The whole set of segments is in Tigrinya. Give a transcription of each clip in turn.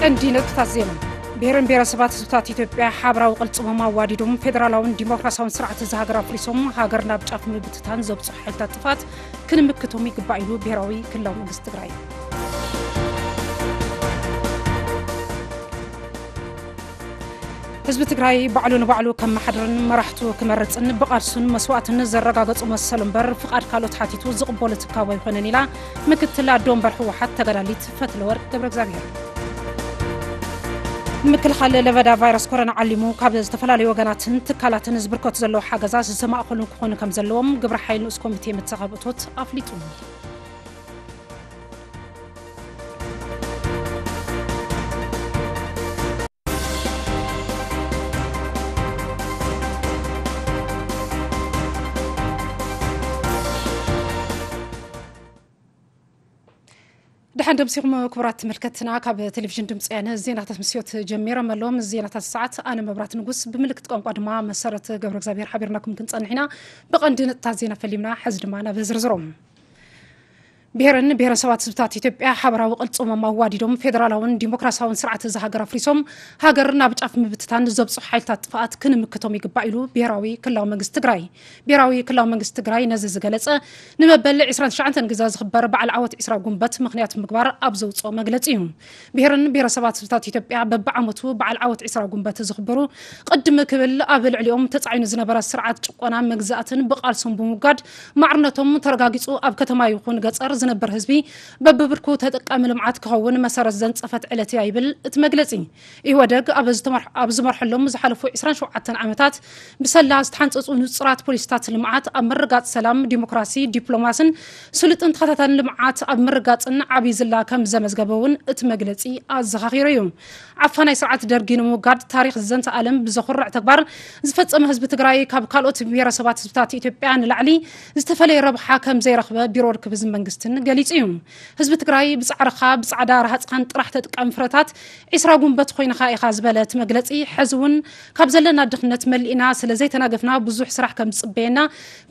ቀንዲ ነጥብታት ዜና። ብሔርን ብሔረሰባት ህዝብታት ኢትዮጵያ ሓበራዊ ቅልጽሞም ኣዋዲዶም ፌደራላውን ዲሞክራሲያውን ስርዓት እዛ ሃገር ኣፍሪሶም ሃገር ናብ ጫፍ ምብትታን ዘብጽሑ ሓይልታት ጥፍኣት ክንምክቶም ይግባእ ኢሉ ብሔራዊ ክልላዊ መንግስቲ ትግራይ። ህዝቢ ትግራይ ባዕሉ ንባዕሉ ከመሓድርን መራሕቱ ክመርጽን ብቓልሱን መስዋእትን ዘረጋገጹ መሰሉ እምበር ፍቓድ ካልኦት ሓቲቱ ዝቕበሎ ትካቦ ኣይኮነን ኢላ ምክትል ኣዶ ወንበር ህወሓት ተጋዳሊት ፈትለወርቅ ገብረ እግዚኣብሔር። ንምክልኻል ለበዳ ቫይረስ ኮሮና ዓሊሙ ካብ ዝተፈላለዩ ወገናትን ትካላትን ዝብርከቱ ዘለዉ ሓገዛት ዝተማእኸሉ ክኾኑ ከም ዘለዎም ግብረ ሓይል ንኡስ ኮሚቴ መተኻብእቶት ኣፍሊጡ። ደሓን ደምሲኹም ክቡራት ተመልከትና፣ ካብ ቴሌቪዥን ድምፂ ወያነ ዜናታት ምስዮት ጀሚሮም ኣለዎም። ዜናታት ሰዓት ኣነ መብራት ንጉስ፣ ብምልክት ቋንቋ ድማ መሰረት ገብረ እግዚኣብሔር ሓቢርናኩም ክንጸንሕ ኢና። ብቐንዲ ነጥብታት ዜና ፈሊምና፣ ሕዚ ድማ ናብ ዝርዝሮም። ብሔርን ብሔረሰባት ህዝብታት ኢትዮጵያ ሓበራዊ ቅልጽሞም ኣዋዲዶም ፌደራላውን ዲሞክራሲያውን ስርዓት እዛ ሃገር ኣፍሪሶም ሃገር ናብ ጫፍ ምብትታን ዘብጽሑ ሓይልታት ጥፍኣት ክንምክቶም ይግባእ ኢሉ ብሔራዊ ክልላዊ መንግስቲ ትግራይ። ብሔራዊ ክልላዊ መንግስቲ ትግራይ ነዚ ዝገለጸ ንመበል ዕስራን ትሽዓተን ግዜ ዝኽበር በዓል ዓወት ዕስራ ጉንበት ምኽንያት ምግባር ኣብ ዘውፅኦ መግለጺ እዩ። ብሔርን ብሔረሰባት ህዝብታት ኢትዮጵያ በብዓመቱ በዓል ዓወት ዕስራ ጉንበት ዝኽበሩ ቅድም ክብል ኣብ ልዕሊኦም ተጻዒኑ ዝነበረ ስርዓት ጭቆና መግዛእትን ብቓልሶም ብምውጋድ ማዕርነቶም ተረጋጊጹ ኣብ ከተማ ይኹን ገጸር ዝነበር ህዝቢ በብብርኩ ተጠቃሚ ልምዓት ክኸውን መሰረት ዘንጸፈት ዕለት እያ ይብል እቲ መግለጺ። ኢህወደግ ኣብ ዝተመር-፣ ኣብ ዝመርሐሎም ዝሓለፉ ዕስራን ሸውዓተን ዓመታት ብሰላ ዝተሓንጸጹ ንጹራት ፖሊሲታት ልምዓት ኣብ ምርጋጽ ሰላም፣ ዲሞክራሲ፣ ዲፕሎማስን ስሉጥን ተኸታታልን ልምዓት ኣብ ምርጋጽን ዓብዪ ዝላ ከም ዘመዝገበ እውን እቲ መግለጺ ኣዘኻኺሩ እዩ። ዓፋናይ ስርዓት ደርጊ ንምውጋድ ታሪኽ ዝዘንተ ዓለም ብዘኹርዕ ተግባር ዝፈጸመ ህዝቢ ትግራይ ካብ ካልኦት ብሔረሰባት ህዝብታት ኢትዮጵያ ንላዕሊ ዝተፈለየ ረብሓ ከም ዘይረኽበ ቢሮ ርክብ ህዝብን መንግስትን ገሊጹ እዩ። ህዝቢ ትግራይ ብጻዕርኻ ብጻዕዳ ረሃጽኻን ጥራሕ ተጠቃሚ ፍረታት ዕስራ ጉንበት ኮይንኻ ኢኻ ዝበለ እቲ መግለጺ፣ ሕዚ እውን ካብ ዘለና ድኽነት መሊእና ስለ ዘይተናገፍና ብዙሕ ስራሕ ከም ዝጽበየና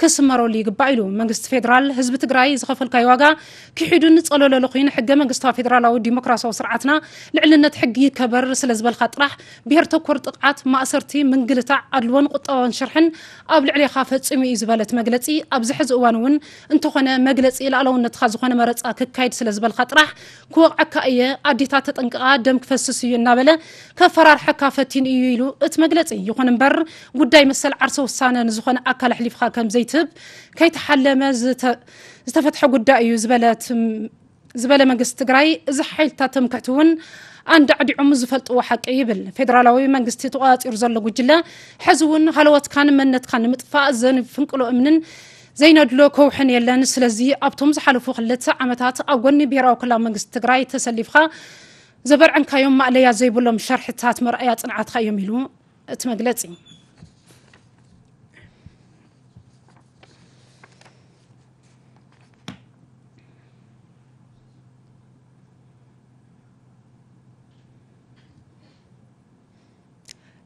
ክስመረሉ ይግባእ ኢሉ። መንግስቲ ፌደራል ህዝቢ ትግራይ ዝኸፈልካዮ ዋጋ ክሒዱን ጸለለሉ ኮይኑ ሕገ መንግስታዊ ፌደራላዊ ዲሞክራሲያዊ ስርዓትና ልዕልነት ሕጊ ይከበር ስለ ዝበልካ ጥራሕ ብሔር ተኮር ጥቕዓት፣ ማእሰርቲ፣ ምንግልታዕ፣ ኣድልዎን ቁጠባውን ሽርሕን ኣብ ልዕሌኻ ፈጺሙ እዩ ዝበለ እቲ መግለጺ፣ ኣብዚ ሕዚ እዋን እውን እንተኾነ መግለጺ ልኣላውነትኻ ዝኾነ መረጻ ክካየድ ስለ ዝበልካ ጥራሕ ክወቕዐካ እየ፣ ኣዴታት ተጠንቀቓ ደም ክፈስስ እዩ እናበለ ከፈራርሐካ ፈቲኑ እዩ ኢሉ እቲ መግለጺ። ይኹን እምበር ጉዳይ መሰል ዓርሰ ውሳነ ንዝኾነ ኣካል ኣሕሊፍኻ ከም ዘይትህብ ከይተሓለመ ዝተ-፣ ዝተፈትሐ ጉዳይ እዩ ዝበለ እቲ ዝበለ መንግስቲ ትግራይ፣ እዚ ሓይልታት ትምክሕቲ እውን ኣንዳዕዲዖም ዝፈልጥዎ ሓቂ ይብል። ፌደራላዊ መንግስቲ ተቆጻጺሩ ዘሎ ጉጅለ፣ ሕዚ እውን ሃለወትካን መንነትካን ንምጥፋእ ዘንፍንቅሎ እምንን ዘይነድሎ ከውሕን የለን። ስለዚ ኣብቶም ዝሓለፉ ክልተ ዓመታት ኣብ ጎኒ ብሄራዊ ክልላዊ መንግስቲ ትግራይ ተሰሊፍካ ዘበርዐንካዮም ማእለያ ዘይብሎም ሸርሕታት መርኣያ ጽንዓትካ እዮም ኢሉ እቲ መግለጺ።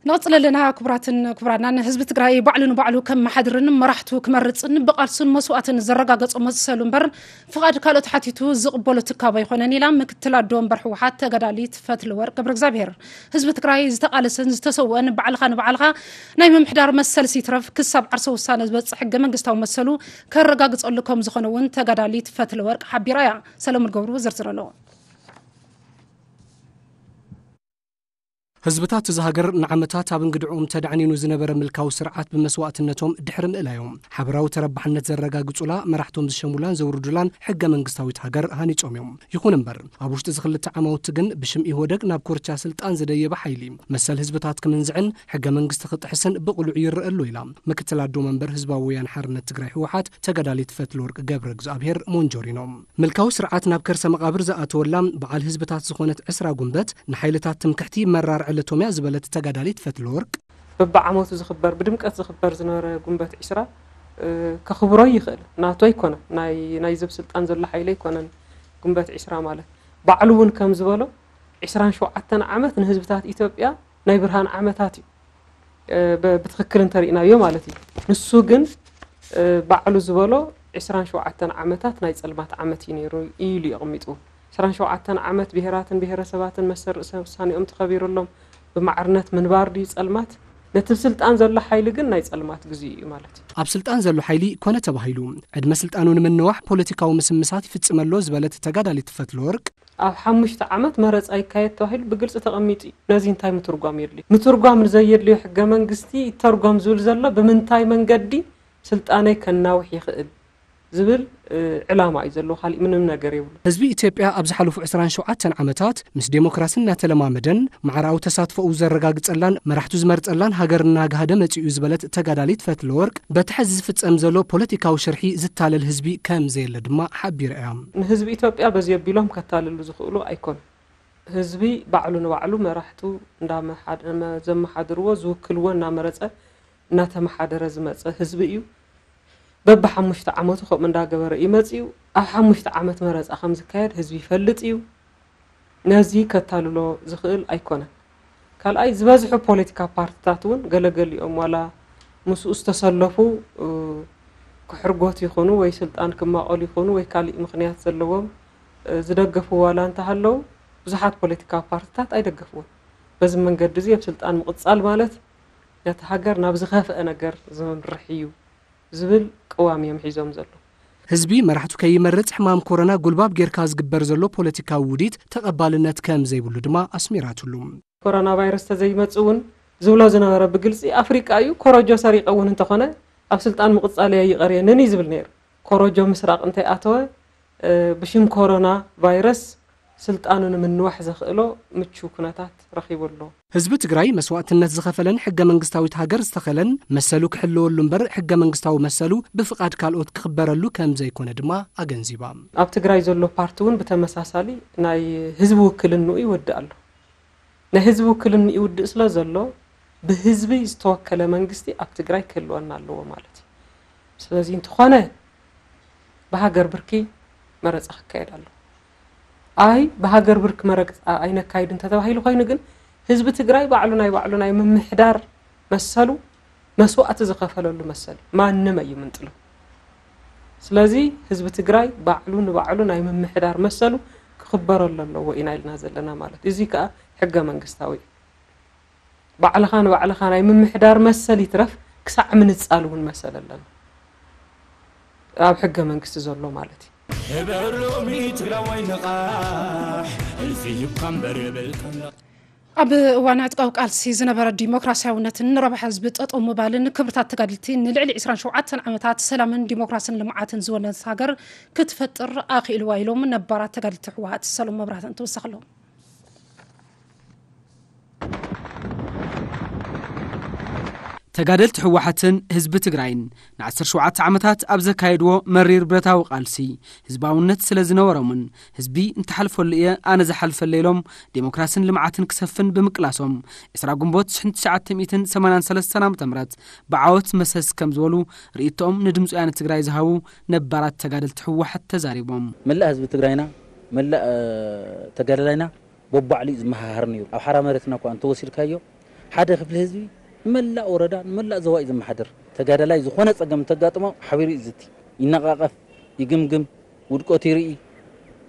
ንቕጽል ኣለና። ክቡራትን ክቡራናን፣ ህዝቢ ትግራይ ባዕሉ ንባዕሉ ከም መሓድርን መራሕቱ ክመርጽን ብቓልሱን መስዋእትን ዘረጋገጾ መሰሉ እምበር ፍቓድ ካልኦት ሓቲቱ ዝቕበሎ ትካብ ኣይኮነን ኢላ ምክትል ኣዶ ወንበር ህወሓት ተጋዳሊት ፈትለወርቅ ገብረ እግዚኣብሔር። ህዝቢ ትግራይ ዝተቓለሰን ዝተሰውአን ባዕልኻ ንባዕልኻ ናይ ምምሕዳር መሰልሲ ይትረፍ ክሳብ ዓርሰ ውሳነ ዝበጽሕ ሕገ መንግስታዊ መሰሉ ከረጋግጸሉ ከም ዝኾነ እውን ተጋዳሊት ፈትለወርቅ ሓቢራ እያ። ሰለሙን ገብሩ ዝርዝር ኣለዎ። ህዝብታት እዛ ሃገር ንዓመታት ኣብ እንግድዕኦም ተዳዕኒኑ ዝነበረ ምልካዊ ስርዓት ብመስዋእትነቶም ድሕሪ ምእላዮም፣ ሓበራዊ ተረባሕነት ዘረጋግጹላ፣ መራሕቶም ዝሸሙላን ዘውርዱላን ሕገ መንግስታዊት ሃገር ሃኒጾም እዮም። ይኹን እምበር፣ ኣብ ውሽጢ እዚ ክልተ ዓማውቲ ግን ብሽም ኢህወደግ ናብ ኮርቻ ስልጣን ዝደየበ ሓይሊ፣ መሰል ህዝብታት ክምንዝዕን ሕገ መንግስቲ ክጥሕስን ብቕሉዕ ይረአ ኣሎ ኢላ ምክትል ኣዶ መንበር ህዝባዊ ወያነ ሓርነት ትግራይ ህወሓት ተጋዳሊት ፈትለወርቅ ገብረ እግዚኣብሔር ሞንጆሪኖ። ምልካዊ ስርዓት ናብ ከርሰ መቓብር ዝኣተወላ በዓል ህዝብታት ዝኾነት ዕስራ ጉንበት ንሓይልታት ትምክሕቲ መራር ዕለቶም እያ ዝበለት ተጋዳሊት ፈትለወርቅ፣ በብዓመቱ ዝኽበር፣ ብድምቀት ዝኽበር ዝነበረ ጉንበት ዕስራ፣ እ፣ ከኽብሮ ይኽእል። ናቱ ኣይኮነን። ናይ፣ ናይ ዝብ ስልጣን ዘሎ ሓይሊ ኣይኮነን። ጉንበት ዕስራ ማለት ባዕሉ እውን ከም ዝበሎ፣ ዕስራን ሸውዓተን ዓመት ንህዝብታት ኢትዮጵያ ናይ ብርሃን ዓመታት እዩ። እ፣ ብ-፣ ብትኽክል እንተሪእናዮ ማለት እዩ። ንሱ ግን፣ እ፣ ባዕሉ ዝበሎ ዕስራን ሸውዓተን ዓመታት ናይ ጸልማት ዓመት እዩ ነይሩ ኢሉ እዩ ኣቐሚጡ። ዕስራን ሸውዓተን ዓመት ብሄራትን ብሄረሰባትን መሰል ርእሰ ውሳኔኦም ተኸቢሩሎም ብማዕርነት ምንባር ድዩ ጸልማት? ነቲ ስልጣን ዘሎ ሓይሊ ግን ናይ ጸልማት ግዜ እዩ ማለት እዩ። ኣብ ስልጣን ዘሎ ሓይሊ ኮነ ተባሂሉ ዕድመ ስልጣኑ ንምንዋሕ ፖለቲካዊ ምስምሳት ይፍጽም ኣሎ ዝበለት ተጋዳሊት ፈትለወርቅ፣ ኣብ ሓሙሽተ ዓመት መረጻ ይካየድ ተባሂሉ ብግልጺ ተቐሚጡ እዩ። ነዚ እንታይ ምትርጓም የድልዮ? ምትርጓም ንዘየድልዮ ሕገ መንግስቲ ይተርጎም ዝብል ዘሎ ብምንታይ መንገዲ ስልጣነይ ከናውሕ ይኽእል ዝብል ዕላማ እዩ ዘለዎ፣ ካሊእ ምንም ነገር የብሉ። ህዝቢ ኢትዮጵያ ኣብ ዝሓለፉ ዕስራን ሸውዓተን ዓመታት ምስ ዴሞክራሲ እናተለማመደን ማዕራዊ ተሳትፎኡ ዘረጋግጸላን መራሕቱ ዝመርጸላን ሃገር እናጋህደ መጺኡ ዝበለት ተጋዳሊት ፈትለወርቅ፣ በቲ ሕዚ ዝፍጸም ዘሎ ፖለቲካዊ ሽርሒ ዝታለል ህዝቢ ከም ዘየለ ድማ ሓቢራ እያ። ንህዝቢ ኢትዮጵያ በዚ ኣቢሎም ከታልሉ ዝኽእሉ ኣይኮኑን። ህዝቢ ባዕሉ ንባዕሉ መራሕቱ እንዳመሓደ-፣ ዘመሓድርዎ ዝውክልዎ እናመረጸ እናተመሓደረ ዝመጸ ህዝቢ እዩ። በብሓሙሽተ ዓመቱ ከምኡ እንዳገበረ እዩ መጺኡ። ኣብ ሓሙሽተ ዓመት መረጻ ከም ዝካየድ ህዝቢ ይፈልጥ እዩ። ነዚ ከታልሎ ዝኽእል ኣይኮነን። ካልኣይ ዝበዝሑ ፖለቲካ ፓርትታት እውን ገለገሊኦም ዋላ ምስኡ ዝተሰለፉ ክሕርጎት ይኹኑ ወይ ስልጣን ክማቐሉ ይኹኑ ወይ ካሊእ ምኽንያት ዘለዎም ዝደገፉ ዋላ እንተሃለዉ ብዙሓት ፖለቲካ ፓርትታት ኣይደገፍዎን። በዚ መንገዲ እዚ ኣብ ስልጣን ምቕጻል ማለት ነቲ ሃገር ናብ ዝኸፍአ ነገር ዘምርሕ እዩ ዝብል ቅዋም እዮም ሒዞም ዘለዉ። ህዝቢ መራሕቱ ከይመርጽ ሕማም ኮሮና ጉልባብ ጌርካ ዝግበር ዘሎ ፖለቲካዊ ውዲት ተቐባልነት ከም ዘይብሉ ድማ ኣስሚራትሉ። ኮሮና ቫይረስ ተዘይመጽእ እውን ዝብሎ ዝነበረ ብግልጺ ኣፍሪቃ እዩ፣ ኮረጆ ሰሪቐ እውን እንተኾነ ኣብ ስልጣን ምቕጻል እየ ይቐርየንን እዩ ዝብል ነይሩ። ኮረጆ ምስራቕ እንተይኣተወ ብሽም ኮሮና ቫይረስ ስልጣኑ ንምንዋሕ ዘኽእሎ ምቹው ኩነታት ረኺቡ ኣሎ። ህዝቢ ትግራይ መስዋእትነት ዝኸፈለን ሕገ መንግስታዊት ሃገር ዝተኸለን መሰሉ ክሕልወሉ እምበር ሕገ መንግስታዊ መሰሉ ብፍቓድ ካልኦት ክኽበረሉ ከም ዘይኮነ ድማ ኣገንዚባ። ኣብ ትግራይ ዘሎ ፓርቲ እውን ብተመሳሳሊ ናይ ህዝቢ ውክልንኡ ይወድእ ኣሎ። ናይ ህዝቢ ውክልንኡ ይውድእ ስለ ዘሎ ብህዝቢ ዝተወከለ መንግስቲ ኣብ ትግራይ ክህልወና ኣለዎ ማለት እዩ። ስለዚ እንተኾነ ብሃገር ብርኪ መረፃ ክካየድ ኣሎ። ኣይ ብሃገር ብርኪ መረፃ ኣይነካይድ እንተተባሂሉ ኮይኑ ግን ህዝቢ ትግራይ ባዕሉ ናይ ባዕሉ ናይ ምምሕዳር መሰሉ መስዋእቲ ዝኸፈለሉ መሰል ማንም ኣይምንጥሎ። ስለዚ ህዝቢ ትግራይ ባዕሉ ንባዕሉ ናይ ምምሕዳር መሰሉ ክኽበረሉ ኣለዎ ኢና ኢልና ዘለና ማለት እዩ። እዚ ከዓ ሕገ መንግስታዊ እዩ። ባዕልኻ ንባዕልኻ ናይ ምምሕዳር መሰል ይትረፍ ክሳዕ ምንጻል እውን መሰል ኣለና። ኣብ ሕገ መንግስቲ ዘሎ ማለት እዩ። ህበር ሎሚ ትግራዋይ ንቓሕ፣ እልፊ ሂብካ እምበር የብልካን። ኣብ እዋን ዕጥቃዊ ቃልሲ ዝነበረ ዲሞክራሲያውነትን ንረብሓ ህዝቢ ጠጠው ምባልን ክብርታት ተጋድልቲ ንልዕሊ ዕስራን ሸውዓተን ዓመታት ሰላምን ዲሞክራስን ልምዓትን ዝወነነት ሃገር ክትፈጥር ኣኽኢልዋ ኢሎም ነባራት ተጋድልቲ ህወሓት ሰሎም መብራህትን ትውሰኽሎም። ተጋደልቲ ህወሓትን ህዝቢ ትግራይን ንዓሰርተ ሸውዓተ ዓመታት ኣብ ዘካየድዎ መሪር ብረታዊ ቃልሲ ህዝባውነት ስለ ዝነበሮምን ህዝቢ እንተሓልፈሉ እየ ኣነ ዝሓልፈለ ኢሎም ዴሞክራስን ልምዓትን ክሰፍን ብምቅላሶም ዕስራ ግንቦት ሽሕን ትሽዓተ ሚእትን ሰማንያን ሰለስተን ዓመተ ምህረት ብዓወት መሰስ ከም ዝበሉ ርእይቶኦም ንድምፂ ወያነ ትግራይ ዝሃቡ ነባራት ተጋደልቲ ህወሓት ተዛሪቦም። መላእ ህዝቢ ትግራይና፣ መላእ ተጋዳላይና በባዕሉ እዩ ዝመሃሃር ነይሩ። ኣብ ሓራ መሬትና እኳ እንተወሲድካዮ ሓደ ክፍሊ ህዝቢ ንመላእ ወረዳ ንመላእ ዞባ እዩ ዘመሓድር። ተጋዳላይ ዝኾነ ፀገም እንተጋጥሞ ሓቢሩ እዩ ዝዝቲ፣ ይነቓቐፍ፣ ይግምግም፣ ውድቀቱ ይርኢ፣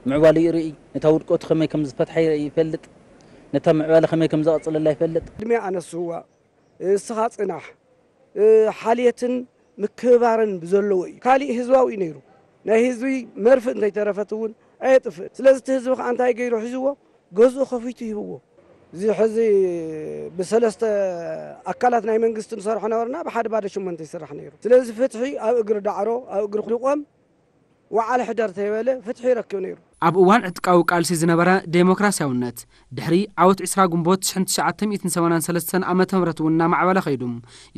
ምዕባለ ይርኢ፣ ነታ ውድቀቱ ከመይ ከም ዝፈትሓ ይርኢ ይፈልጥ፣ ነታ ምዕባለ ከመይ ከም ዘቐፅለላ ይፈልጥ። ቅድሚያ ኣነስዋ፣ እስኻ ፅናሕ፣ ሓልየትን ምክብባርን ብዘለዎ እዩ። ካሊእ ህዝባዊ እዩ ነይሩ። ናይ ህዝቢ መርፍእ እንተይተረፈት እውን ኣየጥፍእን። ስለዚ እቲ ህዝቢ ከዓ እንታይ ገይሩ ሒዝዎ? ገዝኡ ከፊቱ ሂብዎ። እዚ ሕዚ ብሰለስተ ኣካላት ናይ መንግስቲ ንሰርሖ ነበርና፣ ብሓደ ባዶ ሽሞንተ ይስራሕ ነይሩ። ስለዚ ፍትሒ ኣብ እግሪ ዳዕሮ፣ ኣብ እግሪ ድቆም፣ ወዓል ሕደር ተይበለ ፍትሒ ይረክብ ነይሩ። ኣብ እዋን ዕጥቃዊ ቃልሲ ዝነበረ ዴሞክራሲያውነት ድሕሪ ዓወት ዕስራ ግንቦት ሽሕን ትሽዓተ ሚእትን ሰማንያን ሰለስተን ዓመተ ምህረት እውን እናማዕበለ ከይዱ።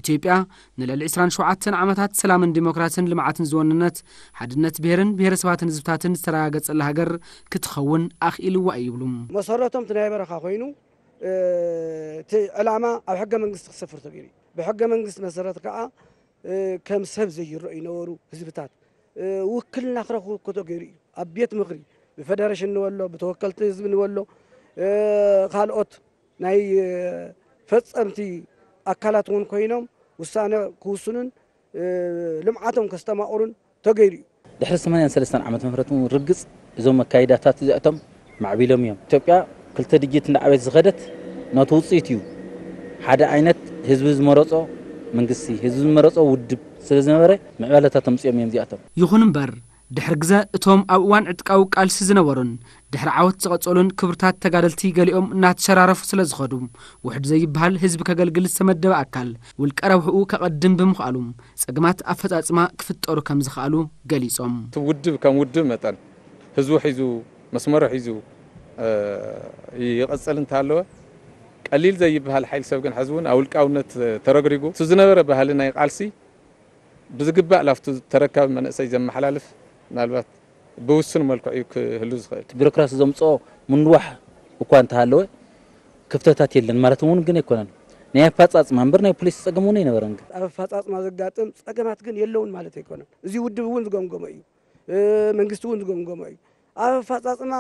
ኢትዮጵያ ንልዕሊ ዕስራን ሸውዓተን ዓመታት ሰላምን ዲሞክራስን ልምዓትን ዝወነነት፣ ሓድነት ብሄርን ብሄረሰባትን ህዝብታትን ዝተረጋገጸላ ሃገር ክትኸውን ኣኽኢልዋ እዩ ይብሉ። መሰረቶም እቲ ናይ በረኻ ኮይኑ፣ እ፣ እቲ ዕላማ ኣብ ሕገ መንግስቲ ክሰፍር ተገይሩ እዩ። ብሕገ መንግስቲ መሰረት ከዓ፣ እ፣ ከም ሰብ ዘይረኣዩ ነበሩ ህዝብታት፣ እ፣ ውክልና ክረኽቡ እኮ ተገይሩ እዩ። ኣብ ቤት ምኽሪ፣ ብፌደሬሽን ንበሎ፣ ብተወከልቲ ህዝቢ ንበሎ፣ እ፣ ካልኦት ናይ፣ እ፣ ፈጸምቲ ኣካላት እውን ኮይኖም ውሳነ ክውስኑን፣ እ፣ ልምዓቶም ከስተማቕሩን ተገይሩ እዩ። ድሕሪ ሰማንያን ሰለስተን ዓመተ ምህረት እውን ርግጽ እዞም ኣካይዳታት እዚኣቶም ማዕቢሎም እዮም። ኢትዮጵያ ክልተ ድጅት እንዳዓበየት ዝኸደት ነቲ ውፅኢት እዩ። ሓደ ዓይነት ህዝቢ ዝመረፆ መንግስቲ፣ ህዝቢ ዝመረፆ ውድብ ስለ ዝነበረ ምዕባለታት ኣምፅኦም እዮም እዚኣቶም። ይኹን እምበር፣ ድሕሪ ግዘ እቶም ኣብ እዋን ዕጥቃዊ ቃልሲ ዝነበሩን ድሕሪ ዓወት ዝቐጸሉን ክብርታት ተጋደልቲ ገሊኦም እናተሸራረፉ ስለ ዝኸዱ፣ ውሕድ ዘይበሃል ህዝቢ ከገልግል ዝተመደበ ኣካል ውልቀ ረብሕኡ ከቐድም ብምኽኣሉ፣ ጸገማት ኣፈጻጽማ ክፍጠሩ ከም ዝኸኣሉ ገሊጾም። እቲ ውድብ ከም ውድብ መጠን ህዝቡ ሒዙ መስመሩ ሒዙ ይቐጽል እንተሃለወ፣ ቀሊል ዘይበሃል ሓይል ሰብ ግን ሕዚ እውን ኣብ ውልቃውነት ተረግሪጉ እቲ ዝነበረ ባህሊ ናይ ቃልሲ ብዝግባእ ላፍቱ ተረካቢ መንእሰይ ዘመሓላልፍ ምናልባት ብውሱን መልክዑ እዩ ክህሉ ዝኽእል። ቢሮክራሲ ዘምፅኦ ምንዋሕ እኳ እንተሃለወ ክፍተታት የለን ማለት እውን ግን ኣይኮነን። ናይ ኣፈፃፅማ እምበር ናይ ፖሊሲ ፀገም እውን ኣይነበረን። ግን ኣብ ኣፈፃፅማ ዘጋጥም ፀገማት ግን የለውን ማለት ኣይኮነን። እዚ ውድብ እውን ዝገምገሞ እዩ። መንግስቲ እውን ዝገምገሞ እዩ። ኣብ ኣፈፃፅማ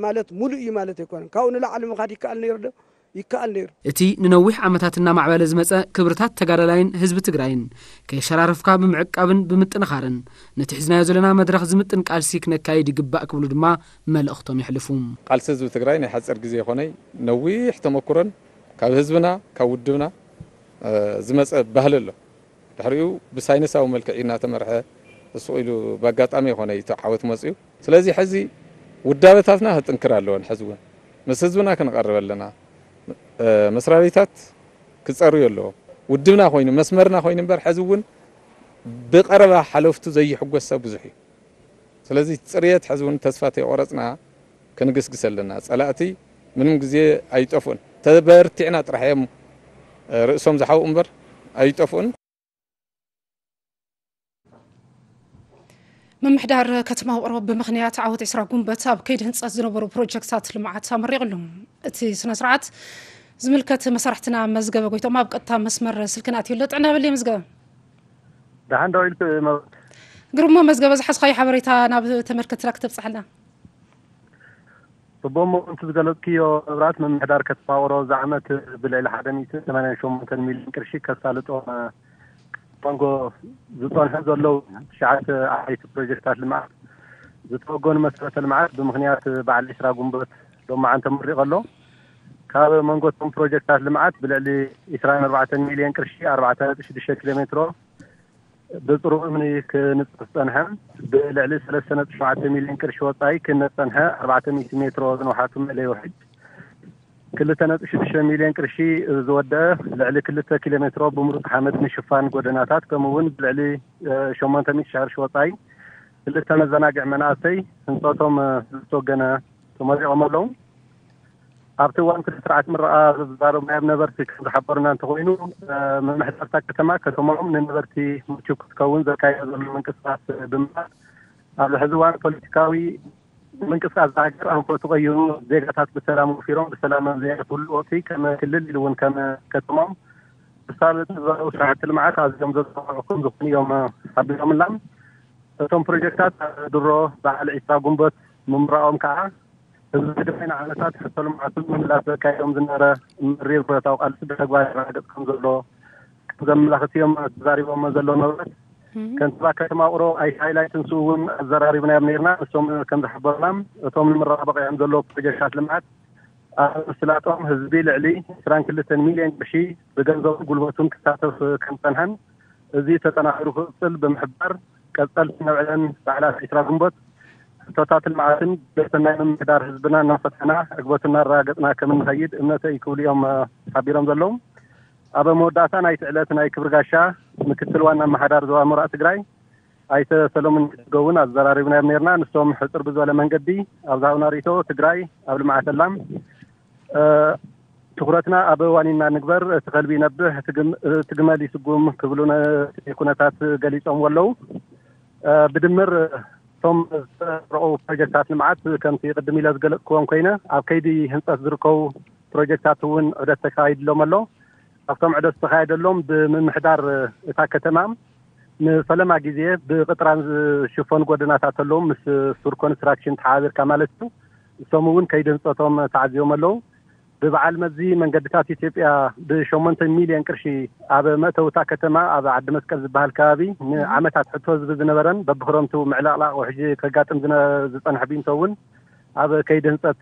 ማለት ሙሉእ እዩ ማለት ኣይኮነን። ካብኡ ንላዕሊ ምኻድ ይከኣል ነይሩ ዶ? ይከኣል ነይሩ። እቲ ንነዊሕ ዓመታት እናማዕበለ ዝመጸ ክብርታት ተጋዳላይን ህዝቢ ትግራይን ከየሸራረፍካ ብምዕቃብን ብምጥንኻርን ነቲ ሒዝናዮ ዘለና መድረኽ ዝምጥን ቃልሲ ክነካይድ ይግባእ ክብሉ ድማ መልእኽቶም የሕልፉ። ቃልሲ ህዝቢ ትግራይ ናይ ሓፂር ግዜ ይኾነይ ነዊሕ ተመኩሮን ካብ ህዝብና ካብ ውድብና ዝመፀ ባህሊ ኣሎ። ድሕሪኡ ብሳይንሳዊ መልክዕ እዩ እናተመርሐ ስቕ ኢሉ ብኣጋጣሚ ይኾነ እዩ እቲ ዓወት መፅዩ። ስለዚ ሕዚ ውዳበታትና ክጥንክር ኣለወን። ሕዚ እውን ምስ ህዝብና ክንቐርብ ኣለና። መስሪያ ቤታት ክፀርዩ ኣለዎም። ውድብና ኮይኑ መስመርና ኮይኑ እምበር ሕዚ እውን ብቐረባ ሓለፍቱ ዘይሕጎስ ሰብ ብዙሕ እዩ። ስለዚ ፅርየት ሕዚ እውን ተስፋ ተይቆረፅና ክንግስግስ ኣለና። ፀላእቲ ምንም ግዜ ኣይጠፍኡን። ተበርቲዕና ጥራሕ እዮም ርእሶም ዝሓውኡ እምበር ኣይጠፍኡን። ምምሕዳር ከተማ ውቕሮ ብምኽንያት ዓወት ዕስራ ጉንበት ኣብ ከይዲ ህንፀት ዝነበሩ ፕሮጀክትታት ልምዓት ኣመሪቑሉ። እቲ ስነ ስርዓት ዝምልከት መሳርሕትና መዝገበ ጎይቶም ኣብ ቀጥታ መስመር ስልክና ኣትዩ ኣሎ። ጥዕና በሊ መዝገበ። ደሓን ደው ኢልክ መብራት። ግርሞ መዝገበ ዝሓዝኻዮ ሓበሬታ ናብ ተመልከትትና ክተብፅሓልና። ጽቡቕ እሞ ከምቲ ዝገለጽክዮ መብራት ምምሕዳር ከተማ ውቕሮ እዚ ዓመት ብልዕሊ ሓደ ሚእትን ሰማንያን ሸሞንተን ሚልዮን ቅርሺ ከሳልጦም መንጎ ዝጸንሑ ዘለዉ ትሽዓተ ዓበይቲ ፕሮጀክታት ልምዓት ዝተወገኑ መሰረተ ልምዓት ብምኽንያት በዓል ዒስራ ጉንበት ሎማዓን ተመሪቑ ኣሎ። ካብ መንጎ እቶም ፕሮጀክታት ልምዓት ብልዕሊ ዒስራን ኣርባዕተን ሚልዮን ቅርሺ ኣርባዕተ ነጥቢ ሽዱሽተ ኪሎ ሜትሮ ብጽሩብ እምኒ ክንጽፍ ዝጸንሐ ብልዕሊ ሰለስተ ነጥቢ ሸውዓተ ሚልዮን ቅርሺ ወጻኢ ክህነጽ ዝጸንሐ ኣርባዕተ ሚእቲ ሜትሮ ዝንውሓቱ መእለዪ ውሕጅ ክልተ ነጥቢ ሽዱሽተ ሚልዮን ቅርሺ ዝወደአ ልዕሊ ክልተ ኪሎ ሜትሮ ብምሩጽ ሓመድ ምሽፋን ጎደናታት ከምኡ እውን ብልዕሊ ሸሞንተ ሚእቲ ሽሕ ቅርሺ ወጻኢ ክልተ መዘናግዒ መናእሰይ ህንጸቶም ዝተወገነ ተመሪቖም ኣለዉ። ኣብቲ እዋን እቲ ስርዓት ምረቓ ዝዛረቡ ናይ ነበርቲ ከም ዝሓበሩና እንተኾይኑ ምምሕዳር እታ ከተማ ከተማኦም ንነበርቲ ምችው ክትከውን ዘካይዶ ዘሎ ምንቅስቃስ ብምባል ኣብዚ ሕዚ እዋን ፖለቲካዊ ምንቅስቃስ እዛ ሃገር ኣንፈቱ ቀይሩ ዜጋታት ብሰላም ወፊሮም ብሰላም ኣብ ዘየዕርፍሉ ወቅቲ ከም ክልል ኢሉ እውን ከም ከተማኦም ክሳለጡ ዝዛረቡ ስራሕቲ ልምዓት ኣዝዮም ዘዘናግዑ ከም ዝኾኑ እዮም ሓቢሮምልና። እቶም ፕሮጀክታት ኣብ ድሮ በዓል ዒስራ ጉንበት ምምራቖም ከዓ ህዝቢ ትግራይ ንዓመታት ሕቶ ልምዓቱ ንምምላስ ዘካየዶም ዝነበረ መሪር ብረታዊ ቃልሲ ብተግባር የረጋግፅ ከም ዘሎ ከም ዘመላኽት እዮም ተዛሪቦሞ ዘለዉ ነበረት። ከንቲባ ከተማ ውቕሮ ኣይተ ሃይላይ ትንስኡ እውን ኣዘራሪብናዮም ነይርና። ንሶም ከም ዝሓበሩና እቶም ንምረቓ በቒዖም ዘለዉ ፕሮጀክታት ልምዓት ኣብ ምስላጦም ህዝቢ ልዕሊ ዕስራን ክልተን ሚልዮን ቅርሺ ብገንዘቡን ጉልበቱን ክሳተፍ ከም ዝፀንሐን እዚ ተጠናኺሩ ክቕፅል ብምሕባር ቀፀልቲ ነብዕለን በዓላት ዕስራ ግንቦት ሕቶታት ልምዓትን ግብረ ሰናይ ምምሕዳር ህዝብና እናፈተሕና ዕግበቱ እናረጋገፅና ከም እንኸይድ እምነተይ ክብሉ እዮም ሓቢሮም ዘለዉ። ኣብ መወዳእታ ናይቲ ዕለት ናይ ክብሪ ጋሻ ምክትል ዋና ኣመሓዳሪ ዞባ ምብራቕ ትግራይ ኣይተ ሰሎሙን ገብን ኣዘራሪብናዮም ነይርና። ንሶም ሕፅር ብዝበለ መንገዲ ኣብ ዝሃብና ርእይቶ ትግራይ ኣብ ልምዓት ኣላ። ትኹረትና ኣብ ዋኒና ንግበር፣ እቲ ከልቢ ይነብሕ፣ እቲ ግመል ይስጉም ክብሉ ነቲ ኩነታት ገሊፆምዎ ኣለዉ። ብድምር እቶም ዝተረቑ ፕሮጀክታት ልምዓት ከምቲ ቅድም ኢለ ዝገለፅክዎም ኮይነ ኣብ ከይዲ ህንፀት ዝርከቡ ፕሮጀክታት እውን ዑደት ተካይድሎም ኣሎ። ኣብቶም ዑደት ዝተኻየደሎም ብምምሕዳር እታ ከተማ ንፈለማ ግዜ ብቕጥራን ዝሽፈኑ ጎደናታት ኣለዉ ምስ ሱር ኮንስትራክሽን ተሓባቢርካ ማለት እዩ። እሶም እውን ከይዲ ህንፀቶም ተዓዚቦም ኣለዉ። ብበዓል መዚ መንገድታት ኢትዮጵያ ብሸሞንተ ሚልዮን ቅርሺ ኣብ መእተዊ እታ ከተማ ኣብ ዓዲ መስቀል ዝበሃል ከባቢ ንዓመታት ሕቶ ዝብል ዝነበረን በብክረምቱ ምዕልቕላቕ ውሕጂ ከጋጥም ዝነ- ዝፀንሐ ቢንቶ እውን ኣብ ከይዲ ህንፀት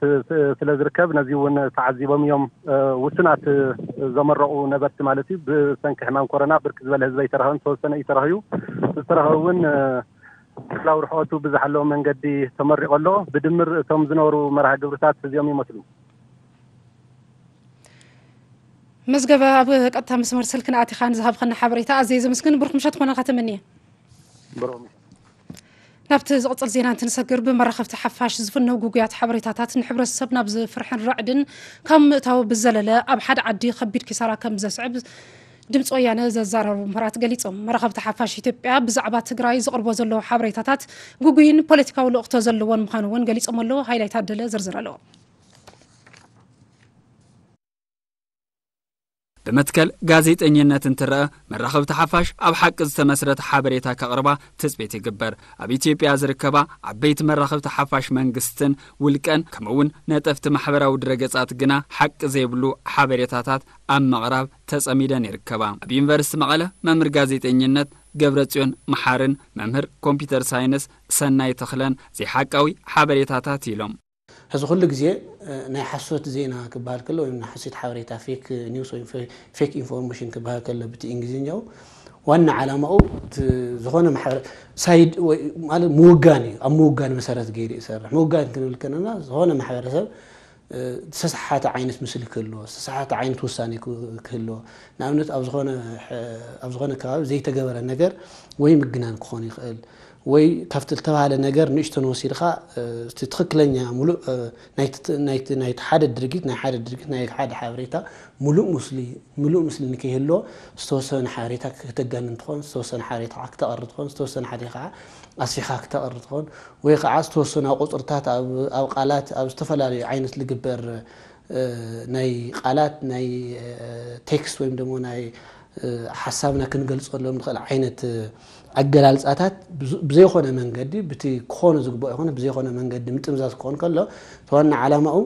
ስለ ዝርከብ ነዚ እውን ተዓዚቦም እዮም። ውሱናት ዘመረቑ ነበርቲ ማለት እዩ። ብሰንኪ ሕማም ኮሮና ብርክ ዝበለ ህዝቢ ኣይተረኸበን፣ ዝተወሰነ እዩ ተረኸዩ። ዝተረኸቡ እውን ክላው ርሕቐቱ ብዝሓለዎ መንገዲ ተመሪቑ ኣሎ። ብድምር እቶም ዝነበሩ መርሃ ግብርታት እዚኦም ይመስሉ። መዝገበ፣ ኣብ ቀጥታ መስመር ስልክና ኣቲኻ ንዝሃብኸና ሓበሬታ ኣዝየ ዘመስግን። ብሩኽ ምሸት ክኾነልካ ተመንየ። ናብቲ ዝቕጽል ዜና እንትንሰግር፣ ብመራኸብቲ ሓፋሽ ዝፍነው ጉጉያት ሓበሬታታት ንሕብረተሰብ ናብ ዝፍርሕን ራዕድን ካብ ምእታው ብዘለለ ኣብ ሓደ ዓዲ ከቢድ ኪሳራ ከም ዘስዕብ ድምፂ ወያነ ዘዛረቡ ምሁራት ገሊጾም። መራኸብቲ ሓፋሽ ኢትዮጵያ ብዛዕባ ትግራይ ዝቕርቦ ዘለዉ ሓበሬታታት ግጉይን ፖለቲካዊ ልእኽቶ ዘለዎን ምዃኑ እውን ገሊጾም ኣለዉ። ሃይላይ ታደለ ዝርዝር ኣለዎ። ብመትከል ጋዜጠኝነት እንትረኣ፣ መራኸብቲ ሓፋሽ ኣብ ሓቂ ዝተመስረተ ሓበሬታ ከቕርባ ትጽቢት ይግበር። ኣብ ኢትዮጵያ ዝርከባ ዓበይቲ መራኸብቲ ሓፋሽ መንግስትን ውልቀን፣ ከምኡ'ውን ነጠፍቲ ማሕበራዊ ድረገጻት ግና ሓቂ ዘይብሉ ሓበሬታታት ኣብ ምቕራብ ተጸሚደን ይርከባ። ኣብ ዩኒቨርሲቲ መቐለ መምህር ጋዜጠኝነት ገብረጽዮን መሓርን መምህር ኮምፒተር ሳይንስ ሰናይ ተኽለን ዘይሓቃዊ ሓበሬታታት ኢሎም። ሕዚ ኩሉ ግዜ ናይ ሓሶት ዜና ክበሃል ከሎ ወይም ናይ ሓሶት ሓበሬታ፣ ፌክ ኒውስ ወይ ፌክ ኢንፎርሜሽን ክበሃል ከሎ ብቲ እንግሊዝኛው፣ ዋና ዓላማኡ ዝኾነ ማሕበረ ሳይድ ማለት ምውጋን እዩ። ኣብ ምውጋን መሰረት ገይሩ ይሰርሕ። ምውጋን ክንብል ከለና ዝኾነ ማሕበረሰብ ዝተሰሓተ ዓይነት ምስሊ ክህልዎ፣ ዝተሰሓተ ዓይነት ውሳኔ ክህልዎ፣ ንኣብነት ኣብ ዝኾነ ከባቢ ዘይተገበረ ነገር ወይ ምግናን ክኾን ይኽእል ወይ ካብቲ ዝተባህለ ነገር ንእሽተን ወሲድኻ እቲ ትኽክለኛ ሙሉእ ናይቲ ሓደ ድርጊት ናይ ሓደ ድርጊት ናይ ሓደ ሓበሬታ ሙሉእ ሙሉእ ምስሊ ንከይህልዎ ዝተወሰነ ሓበሬታ ክተጋንን ትኾን፣ ዝተወሰነ ሓበሬታ ክተቐሪ ትኾን፣ ዝተወሰነ ሓደ ከዓ ኣስፊኻ ክተቐሪ ትኾን ወይ ከዓ ዝተወሰኑ ቁፅርታት ኣብ ቃላት ኣብ ዝተፈላለዩ ዓይነት ልግበር ናይ ቃላት ናይ ቴክስት ወይም ደሞ ናይ ሓሳብና ክንገልፀሎም ንኽእል ዓይነት ኣገላልፃታት ብዘይኮነ መንገዲ ብቲ ክኾነ ዝግበኦ ይኾነ ብዘይኮነ መንገዲ ምጥምዛዝ ክኾን ከሎ እቲ ዋና ዓላማኡ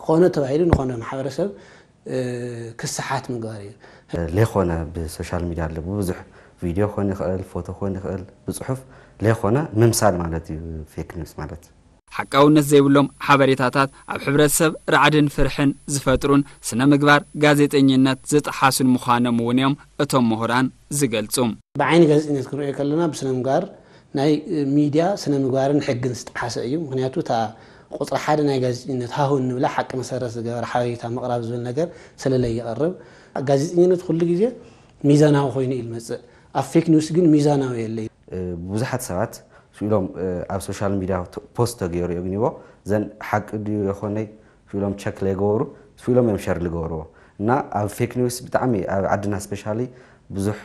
ኮነ ተባሂሉ ንኾነ ማሕበረሰብ ክሰሓት ምግባር እዩ። ሌኾነ ብሶሻል ሚድያ ኣሎ ብብዙሕ ቪድዮ ክኾን ይኽእል ፎቶ ክኾን ይኽእል ብፅሑፍ ሌኾነ ምምሳል ማለት እዩ ፌክ ኒውስ ማለት። ሓቃውነት ዘይብሎም ሓበሬታታት ኣብ ሕብረተሰብ ራዕድን ፍርሕን ዝፈጥሩን ስነ ምግባር ጋዜጠኝነት ዝጠሓሱን ምዃኖም እውን እዮም እቶም ምሁራን ዝገልጹ። ብዓይኒ ጋዜጠኝነት ክንሪኦ ከለና ብስነ ምግባር ናይ ሚድያ ስነ ምግባርን ሕግን ዝጠሓሰ እዩ። ምኽንያቱ እታ ቁፅሪ ሓደ ናይ ጋዜጠኝነት ሃሁ እንብላ ሓቂ መሰረት ዝገበረ ሓበሬታ ምቕራብ ዝብል ነገር ሰለለ ይቐርብ። ጋዜጠኝነት ኩሉ ግዜ ሚዛናዊ ኮይኑ እዩ ዝመፅእ። ኣብ ፌክ ኒውስ ግን ሚዛናዊ የለይ። ብዙሓት ሰባት ስኢሎም ኣብ ሶሻል ሚድያ ፖስት ተገይሩ እዩ ግኒቦ ዘን ሓቂ ድዩ የኾነይ ስኢሎም ቸክ ለይገበሩ ስኢሎም እዮም ሸር ልገበርዎ እና ኣብ ፌክ ኒውስ ብጣዕሚ ኣብ ዓድና ስፔሻሊ ብዙሕ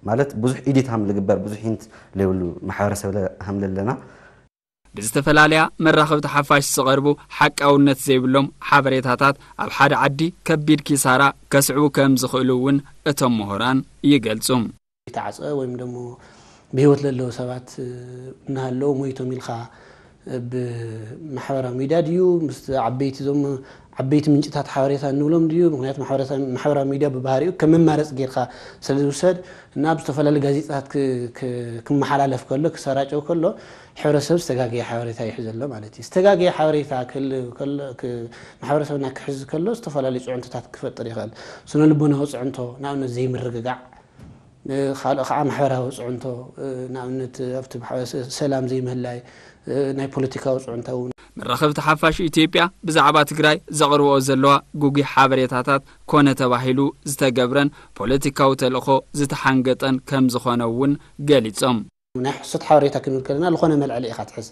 ማለት ብዙሕ ኢዲት ሃም ልግበር ብዙሕ ሂንት ለይብሉ ማሕበረሰብ ሃም ለለና ብዝተፈላለያ መራኸብቲ ሓፋሽ ዝቐርቡ ሓቃውነት ዘይብሎም ሓበሬታታት ኣብ ሓደ ዓዲ ከቢድ ኪሳራ ከስዕቡ ከም ዝኽእሉ እውን እቶም ምሁራን ይገልጹ። ይተዓጸ ወይም ደሞ ብህይወት ለለዉ ሰባት እናሃለዉ ሞይቶም ኢልካ ብማሕበራዊ ሚድያ ድዩ ምስ ዓበይቲ ዞም ዓበይቲ ምንጭታት ሓበሬታ እንብሎም ድዩ? ምክንያቱ ማሕበራዊ ሚድያ ብባህሪኡ ከም መማረፂ ጌርካ ስለ ዝውሰድ እና ኣብ ዝተፈላለዩ ጋዜጣታት ክመሓላለፍ ከሎ ክሰራጨው ከሎ ሕብረተሰብ ዝተጋገየ ሓበሬታ ይሕዘሎ ማለት እዩ። ዝተጋገየ ሓበሬታ ማሕበረሰብና ክሕዝ ከሎ ዝተፈላለዩ ፅዕንቶታት ክፈጥር ይኽእል። ስነ ልቦናዊ ፅዕንቶ ንኣብነት ዘይምርግጋዕ ካልእ ከዓ ማሕበራዊ ፅዕንቶ ንኣብነት ኣብቲ ሰላም ዘይምህላይ ናይ ፖለቲካዊ ፅዕንቶ እውን መራኸብቲ ሓፋሽ ኢትዮጵያ ብዛዕባ ትግራይ ዘቕርብኦ ዘለዋ ግጉይ ሓበሬታታት ኮነ ተባሂሉ ዝተገብረን ፖለቲካዊ ተልእኾ ዝተሓንገጠን ከም ዝኾነ እውን ገሊጾም። ናይ ሕሶት ሓበሬታ ክንብል ከለና ዝኾነ መልዕሊ ኢኻ ትሕዝ።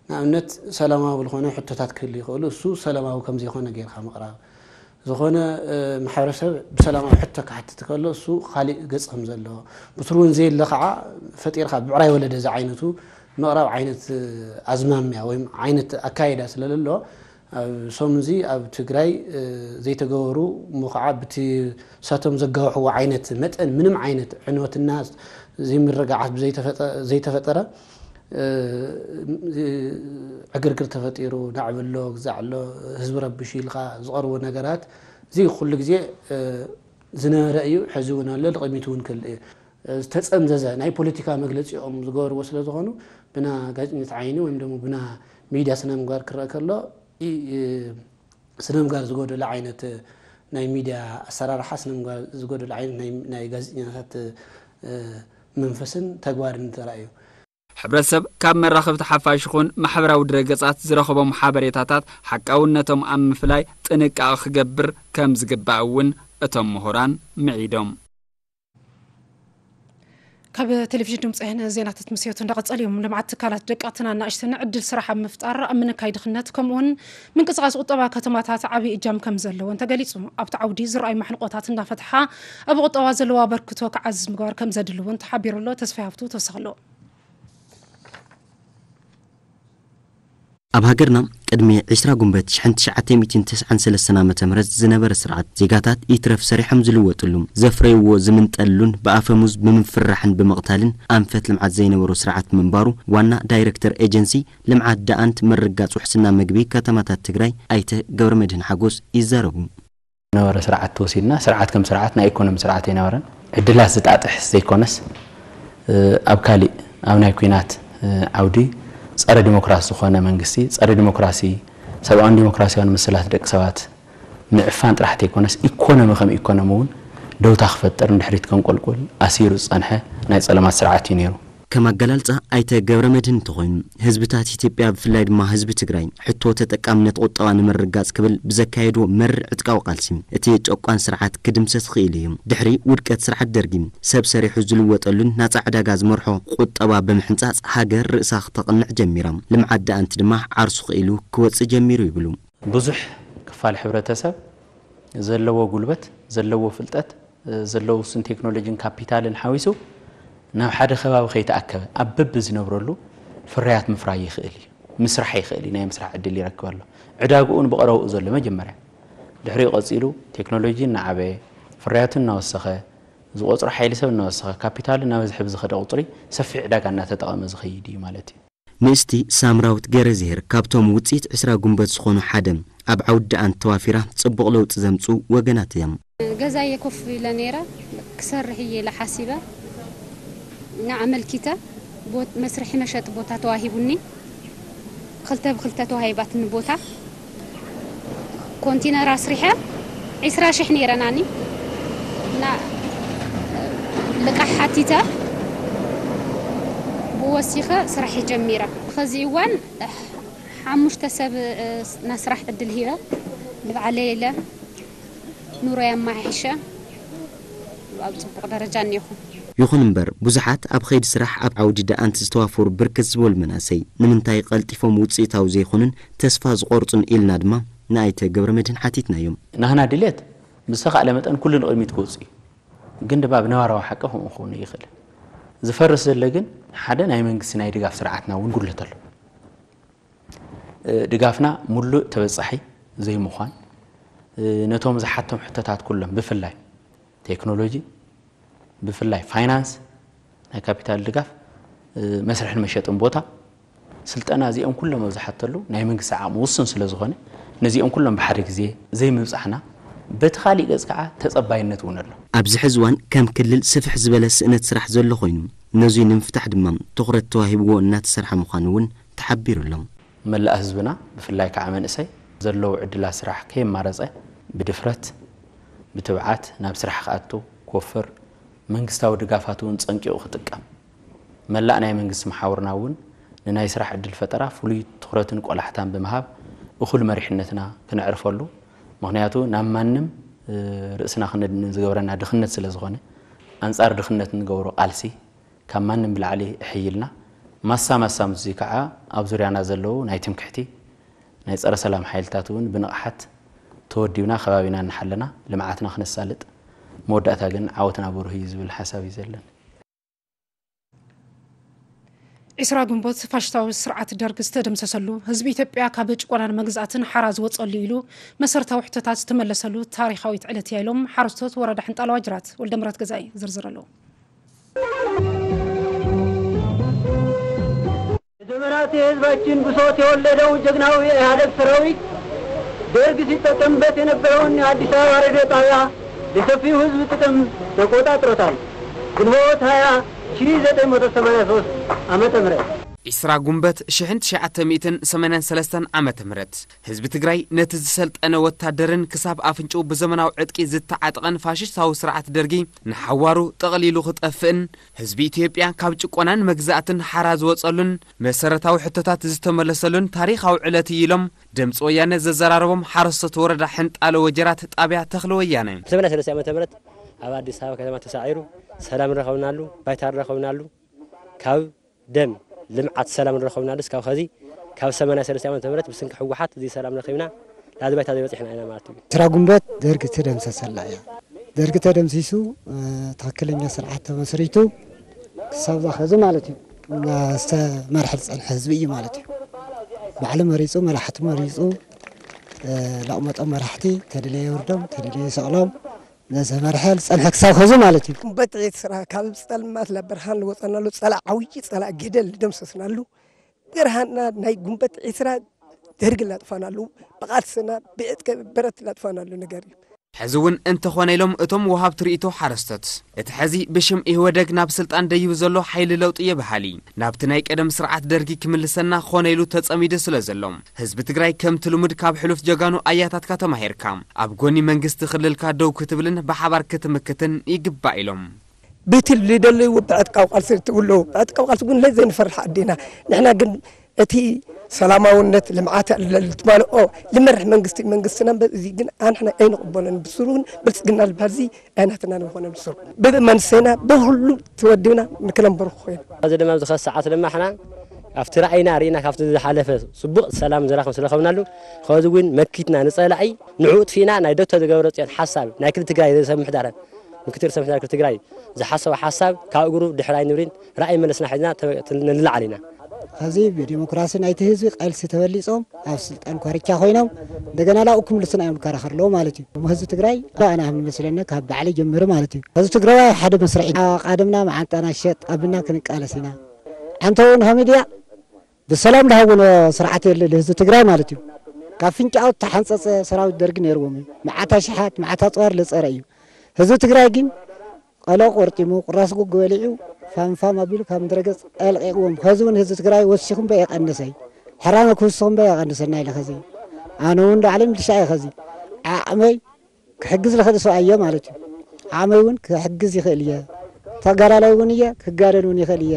ንኣብነት ሰላማዊ ዝኾነ ሕቶታት ክህሉ ይኽእሉ እሱ ሰላማዊ ከም ዘይኮነ ጌርካ ምቕራብ ዝኾነ ማሕበረሰብ ብሰላማዊ ሕቶ ክሓትት ከሎ እሱ ካሊእ ገፅ ከም ዘለዎ ብትሩ እውን ዘየለ ከዓ ፈጢርካ ብዕራይ ወለደ ዝዓይነቱ ምቕራብ ዓይነት ኣዝማምያ ወይ ዓይነት ኣካይዳ ስለለሎ ኣብ ሰሙን እዚ ኣብ ትግራይ ዘይተገበሩ እሞ ከዓ ብቲ ሳቶም ዘጋውሕዎ ዓይነት መጠን ምንም ዓይነት ዕንወትና ዘይምርግዓት ዘይተፈጠረ ዕግርግር ተፈጢሩ ናዕብሎ ግዛዕሎ ህዝቢ ረብሹ ኢልካ ዝቐርቡ ነገራት እዚ ኩሉ ግዜ ዝነበረ እዩ፣ ሕዚ እውን ኣሎ፣ ንቕድሚት እውን ክህሉ እዩ። ዝተፀምዘዘ ናይ ፖለቲካ መግለፂኦም ዝገበርዎ ስለ ዝኾኑ ብና ጋዜጠኝነት ዓይኒ ወይም ደሞ ብና ሚድያ ስነ ምግባር ክረአ ከሎ፣ ኢ-፣ ስነ ምግባር ዝጎደሎ ዓይነት ናይ ሚድያ ኣሰራርሓ፣ ስነ ምግባር ዝጎደሎ ዓይነት ናይ፣ ናይ ጋዜጠኛታት፣ እ፣ መንፈስን ተግባርን ተራእዩ። ሕብረተሰብ ካብ መራኸብቲ ሓፋሽ ይኹን ማሕበራዊ ድረገጻት ዝረኸቦም ሓበሬታታት ሓቃውነቶም ኣብ ምፍላይ ጥንቃቐ ክገብር ከም ዝግባእ እውን እቶም ምሁራን ምዒዶም። ካብ ቴሌቪዥን ድምፂ ወያነ ዜናታት ምስዮት እንዳቐጸሉ እዮም። ልምዓት ትካላት ደቀቕትን ኣናእሽትን ዕድል ስራሕ ኣብ ምፍጣር፣ ኣብ ምንካይ ድኽነት፣ ከምኡውን ምንቅስቓስ ቁጠባ ከተማታት ዓብዪ እጃም ከም ዘለዎን ተገሊጹ። ኣብቲ ዓውዲ ዝረኣዩ ማሕንቆታት እናፈትሓ፣ ኣብ ቁጠባ ዘለዎ ኣበርክቶ ክዓዝዝ ምግባር ከም ዘድሊ እውን ተሓቢሩ ኣሎ። ተስፋ ሃፍቱ ተወሰኸ ኣሎ። ኣብ ሃገርና ቅድሚ ዕስራ ጉንበት ሽሕን ትሽዓተ ሚእትን ተስዓን ሰለስተን ዓመተ ምህረት ዝነበረ ስርዓት፣ ዜጋታት ይትረፍ ሰሪሖም ዝልወጥሉ፣ ዘፍረይዎ ዝምንጠልሉን ብኣፈሙዝ ብምፍርራሕን ብምቕታልን ኣንፈት ልምዓት ዘይነበሮ ስርዓት ምንባሩ ዋና ዳይረክተር ኤጀንሲ ልምዓት ደኣንት ምርግጋጽ ውሕስና ምግቢ ከተማታት ትግራይ ኣይተ ገብረመድህን ሓጎስ ይዛረቡ። ነበረ ስርዓት ተወሲድና፣ ስርዓት ከም ስርዓት ናይ ኢኮኖሚ ስርዓት ኣይነበረን። ዕድላት ዝጣጥሕ ዘይኮነስ፣ እ፣ ኣብ ካሊእ፣ ኣብ ናይ ኲናት፣ እ፣ ዓውዲ ጸረ ዲሞክራሲ ዝኾነ መንግስቲ፣ ጸረ ዲሞክራሲ፣ ሰብኣውን ዲሞክራሲያውን መሰላት ደቂ ሰባት ምዕፋን ጥራሕ ዘይኮነስ፣ ኢኮኖሚ ከም ኢኮኖሚ እውን ደውታ ክፈጥር፣ ንድሕሪት ከንቆልቁል ኣሲሩ ዝጸንሐ ናይ ጸለማት ስርዓት እዩ ነይሩ። ከም ኣገላልጻ ኣይተ ገብረመድህን እንተኾይኑ፣ ህዝብታት ኢትዮጵያ ብፍላይ ድማ ህዝቢ ትግራይ ሕቶ ተጠቃምነት ቁጠባ ንምርግጋጽ ክብል ብዘካየድዎ መሪር ዕጥቃዊ ቃልሲ እቲ ጨቋን ስርዓት ክድምሰስ ክኢሉ እዩ። ድሕሪ ውድቀት ስርዓት ደርጊ ሰብ ሰሪሑ ዝልወጠሉን ናጻ ዕዳጋ ዝመርሖ ቁጠባ ብምሕንጻጽ ሃገር ርእሳ ክተቕንዕ ጀሚራ። ልምዓት ደኣንት ድማ ዓርሱ ክኢሉ ክወጽእ ጀሚሩ ይብሉ። ብዙሕ ክፋል ሕብረተሰብ ዘለዎ ጉልበት፣ ዘለዎ ፍልጠት፣ ዘለዎ ውሱን ቴክኖሎጂን ካፒታልን ሓዊሱ ናብ ሓደ ከባቢ ከይተኣከበ ኣብ በቢ ዝነብረሉ ፍርያት ምፍራይ ይኽእል እዩ፣ ምስራሕ ይኽእል እዩ፣ ናይ ምስራሕ ዕድል ይረክብ ኣሎ። ዕዳግኡ ብቐረብኡ ዘሎ መጀመርያ። ድሕሪኡ ቀጺሉ ቴክኖሎጂ እናዓበየ፣ ፍርያቱ እናወሰኸ፣ ዝቆጽሮ ሓይሊ ሰብ እናወሰኸ፣ ካፒታሉ እናበዝሐ ብዝኸደ ቁጽሪ ሰፊሕ ዕዳጋ እናተጠቐመ ዝኸይድ እዩ ማለት እዩ። ንእስቲ ሳምራዊት ገረዝሄር ካብቶም ውጽኢት ዕስራ ጉንበት ዝኾኑ ሓደ፣ ኣብ ዓውዲ ደኣንት ተዋፊራ ጽቡቕ ለውጢ ዘምጽኡ ወገናት እዮም። ገዛየ ኮፍ ኢለ ነይረ፣ ክሰርሕ እየ ኢለ ሓሲበ፣ ንኣመልኪተ፣ ቦት-፣ መስርሒ መሸጢ ቦታ ተዋሂቡኒ፣ ክልተ ብክልተ ተዋሂባትኒ ቦታ። ኮንቲነር ኣስሪሐ ዒስራ ሽሕ ነይረናኒ። እና ልቃሕ ሓቲተ ብወሲኸ ስራሕ ጀሚረ። ኸዚ እዋን ሓሙሽተ ሰብ፣ እ፣ ናይ ስራሕ ዕድል ሂበ ንባዕለይ ኢለ ኑሮይ ኣመሓሒሸ ኣብ ጽቡቕ ደረጃ እኒኹ። ይኹን እምበር፣ ብዙሓት ኣብ ኸይዲ ስራሕ ኣብ ዓውዲ ደኣንት ዝተዋፈሩ ብርክት ዝበሉ መናእሰይ፣ ንምንታይ ቀልጢፎም ውጽኢታዊ ዘይኮኑን ተስፋ ዝቖርጹን ኢልና ድማ ንኣይተ ገብረመድህን ሓቲትናዮም። ናህና ድሌት ብዝተኻእለ መጠን ኩሉ ንቕድሚት ክወጽእ እዩ። ግን ድማ ብነባራዊ ሓቂ ከምኡ ክኸውን ይኽእል። ዝፈርስ ዘሎ ግን ሓደ ናይ መንግስቲ ናይ ድጋፍ ስርዓትና እውን ጉድለት ኣሎ። እ፣ ድጋፍና ሙሉእ ተበጻሒ ዘይምዃን፣ እ፣ ነቶም ዝሓቶም ሕቶታት ኩሎም ብፍላይ ቴክኖሎጂ፣ ብፍላይ ፋይናንስ፣ ናይ ካፒታል ድጋፍ፣ እ፣ መስርሕን መሸጥን ቦታ፣ ስልጠና፣ እዚኦም ኩሎም ኣብ ዝሓተሉ ናይ መንግስቲ ዓቕሚ ውሱን ስለ ዝኾነ፣ ነዚኦም ኩሎም ብሓደ ግዜ ዘይምብጻሕና፣ በቲ ካሊእ ገጽ ከዓ ተጸባይነት እውን ኣሎ። ኣብዚ ሕዚ እዋን ከም ክልል ስፍሕ ዝበለ ስእነት ስራሕ ዘሎ ኮይኑ፣ ነዙይ ንምፍታሕ ድማ ትኹረት ተዋሂብዎ እናተሰርሐ ምዃኑ እውን ተሓቢሩ ኣሎ። መላእ ህዝብና፣ ብፍላይ ከዓ መንእሰይ፣ ዘለዉ ዕድላት ስራሕ ከየማረጸ ብድፍረት፣ ብትብዓት ናብ ስራሕ ክኣቱ ክወፍር፣ መንግስታዊ ድጋፋት እውን ጸንቂቑ ክጥቀም፣ መላእ ናይ መንግስቲ መሓውርና እውን ንናይ ስራሕ ዕድል ፈጠራ ፍሉይ ትኹረትን ቆላሕታን ብምሃብ እኹል መሪሕነትና ክነዕርፈሉ፣ ምኽንያቱ ናብ ማንም፣ እ፣ ርእስና ክነድንን ዝገብረና ድኽነት ስለ ዝኾነ፣ ኣንጻር ድኽነት እንገብሮ ቃልሲ ካብ ማንም ብላዕሊ እሕይልና፣ ማሳ ማሳ ምስዚ ከዓ ኣብ ዙርያና ዘለዉ ናይ ትምክሕቲ፣ ናይ ጸረ ሰላም ሓይልታት እውን ብንቕሓት ተወዲብና ከባቢና እናሓለና ልምዓትና ክነሳልጥ፣ መወዳእታ ግን ዓወትና ብሩህ እዩ ዝብል ሓሳብ እዩ ዘለኒ። ዒስራ ግንቦት ፋሽስታዊ ስርዓት ደርግ ዝተደምሰሰሉ፣ ህዝቢ ኢትዮጵያ ካብ ጭቆናን መግዛእትን ሓራ ዝወጸሉ ኢሉ መሰረታዊ ሕቶታት ዝተመለሰሉ ታሪኻዊት ዕለት እያ ኢሎም ሓረስቶት ወረዳ ሕንጣሎ ዋጅራት። ወልደምረት ገዛኢ ዝርዝር ኣለዎ። ለዘመናት የህዝባችን ብሶት የወለደው ጀግናው የኢህአደግ ሰራዊት ደርግ ሲጠቀምበት የነበረውን የአዲስ አበባ ሬዲዮ ጣቢያ ለሰፊው ህዝብ ጥቅም ተቆጣጥሮታል። ግንቦት ሃያ ሺህ ዘጠኝ መቶ ሰማንያ ሦስት ዓመተ ምህረት። ዒስራ ጉንበት ሽሕን ትሽዓተ ሚእትን ሰማንያን ሰለስተን ዓመተ ምህረት ህዝቢ ትግራይ ነቲ ዝሰልጠነ ወታደርን ክሳብ ኣፍንጭኡ ብዘመናዊ ዕጥቂ ዝተዓጠቐን ፋሽስታዊ ስርዓት ደርጊ ንሓዋሩ ጠቕሊሉ ክጠፍእን ህዝቢ ኢትዮጵያ ካብ ጭቆናን መግዛእትን ሓራ ዝወጸሉን መሰረታዊ ሕቶታት ዝተመለሰሉን ታሪኻዊ ዕለት እዩ ኢሎም ድምፂ ወያነ ዘዘራረቦም ሓረስቶት ወረዳ ሕንጣሎ ወጀራት ጣብያ ተኽለ ወያነ። ሰማንያ ሰለስተ ዓመተ ምህረት ኣብ ኣዲስ ኣበባ ከተማ ተሳዒሩ ሰላም ረኸብናሉ፣ ባይታ ረኸብናሉ። ካብ ደም ልምዓት ሰላም ረኸብናሉ። እስካብ ኸዚ ካብ ሰማንያ ሰለስተ ዓመተ ምህረት ብስንኪ ህወሓት እዚ ሰላም ረኺብና ናዚ ባይታ ዘይበፂሕና ኢና ማለት እዩ። ዒስራ ጉንበት ደርጊ ተደምሰሰላ እያ። ደርጊ ተደምሲሱ፣ እ፣ ትኽክለኛ ስርዓት ተመስሪቱ ክሳብ ዛኸዚ ማለት እዩ። እና ዝተመርሐ ዝፀንሐ ህዝቢ እዩ ማለት እዩ። ባዕሉ መሪፁ፣ መራሕቲ መሪፁ፣ እ፣ ለቕመጦም መራሕቲ ተደለየ የውርዶም፣ ተደለየ ይሰቕሎም፣ ነዚ መርሐ ዝፀንሐ ክሳብ ኸዚ ማለት እዩ። ጉንበት ዒስራ ካብ ፀልማት ለብርሃን ልወፀናሉ ፀላእ ዓብዪ ፀላእ ገደል ልደምሰስናሉ ብርሃንና ናይ ጉንበት ዒስራ ደርግ ላጥፋናሉ ብቓልስና ብዕጥቂ ብረት ላጥፋናሉ ነገር እዩ። ሕዚ እውን እንተኾነ ኢሎም እቶም ወሃብቲ ርእይቶ ሓረስቶት፣ እቲ ሕዚ ብሽም ኢህወደግ ናብ ስልጣን ደይቡ ዘሎ ሓይሊ ለውጢ እየ በሃሊ ናብቲ ናይ ቀደም ስርዓት ደርጊ ክምልሰና ኾነ ኢሉ ተጸሚዱ ስለ ዘሎ ህዝቢ ትግራይ ከምቲ ልሙድ ካብ ሕሉፍ ጀጋኑ ኣያታትካ ተማሂርካ ኣብ ጎኒ መንግስቲ ክልልካ ደው ክትብልን ብሓባር ክትምክትን ይግባእ ኢሎም። ብትል ዝደለይዎ ብዕጥቃዊ ቃልሲ ትብሎ ብዕጥቃዊ ቃልሲ ግን ለይ ዘይንፈርሕ ኣዴና ንሕና ግን እቲ ሰላማውነት ልምዓት ትማልኦ ልመርሕ መንግስቲ መንግስትና እምበር እዚ ግን ኣንሕና ኣይንቕበሎን ብስሩ ግን ብልፅግና ዝበሃል እዚ ኣይናትና ንኾነ ብስሩ ብመንሰና ብሁሉ ተወዲብና ንክነንበሩ ኮይኑ እዚ ድማ ኣብዚ ኸዚ ሰዓት ድማ ሕና ኣብቲ ራእይና ርኢና ካብቲ ዝሓለፈ ፅቡቕ ሰላም ዝረኸብ ስለረኸብናሉ ኸዚ እውን መኪትና ንፀላኢ ንዕኡ ጥፊእና ናይ ዶክተር ገብረፅዮን ሓሳብ ናይ ክልል ትግራይ ርእሰ ምምሕዳር ምክትል ርእሰ ምምሕዳር ክልል ትግራይ ዝሓሰቦ ሓሳብ ካብ እግሩ ድሕር ኣይንብልን ራእይ መለስና ሒዝና ንልዓል ኢና። ኸዚ ብዲሞክራሲ ናይቲ ህዝቢ ቃልሲ ተበሊፆም ኣብ ስልጣን ኮርቻ ኮይኖም እንደገና ላብኡ ክምልሱና እዮም ንከራኸር ኣለዎ ማለት እዩ። እሞ ህዝቢ ትግራይ ኣነ ከም ዝመስለኒ ካብ ባዕለይ ጀምሪ ማለት እዩ። ህዝቢ ትግራዋይ ሓደ መስርዕ እዩ። ኣቓድምና መዓንጣና ሸጥ ኣብልና ክንቃለስ ኢና። ኣንተ እውን ኸ ሚድያ ብሰላም ዝሃውኖ ስርዓት የለ ህዝቢ ትግራይ ማለት እዩ። ካብ ፍንጫኡ እተሓንፀፀ ሰራዊት ደርጊ ነይርዎም እዩ። መዓት ኣሽሓት መዓት ኣፅዋር ለፀረ እዩ። ህዝቢ ትግራይ ግን ቀሎ ቆርጢሙ ቁራስ ጉግ በሊዑ ፋም ፋም ኣቢሉ ካብ ምድረገፅ ኣልቂቕዎም። ኸዚ እውን ህዝቢ ትግራይ ወሲኹ እምበር የቐንሰይ ሕራነ ክውስኹ እምበር የቐንሰና ኢለ ኸዚ ኣነ እውን ዳዕለ ሚልሻ እየ ኸዚ ዓቕመይ ክሕግዝ ዝኽእል ሰብኣይ እየ ማለት እዩ። ዓቕመይ እውን ክሕግዝ ይኽእል እየ። ተጋዳላይ እውን እየ ክጋደል እውን ይኽእል እየ።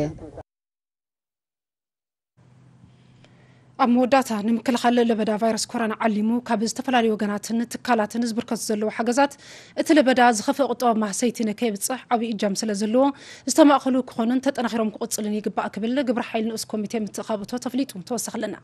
ኣብ መወዳእታ ንምክልኻል ለበዳ ቫይረስ ኮሮና ዓሊሙ ካብ ዝተፈላለዩ ወገናትን ትካላትን ዝብርከቱ ዘለዉ ሓገዛት እቲ ለበዳ ዝኸፍአ ቁጠባ ማህሰይቲ ንከየብፅሕ ዓብዪ እጃም ስለ ዘለዎ ዝተማእኸሉ ክኾኑን ተጠናኺሮም ክቕፅልን ይግባእ ክብል ግብረ ሓይል ንኡስ ኮሚቴ ምትእኻብ እቶት ኣፍሊጡ። ተወሳኺ ኣለና።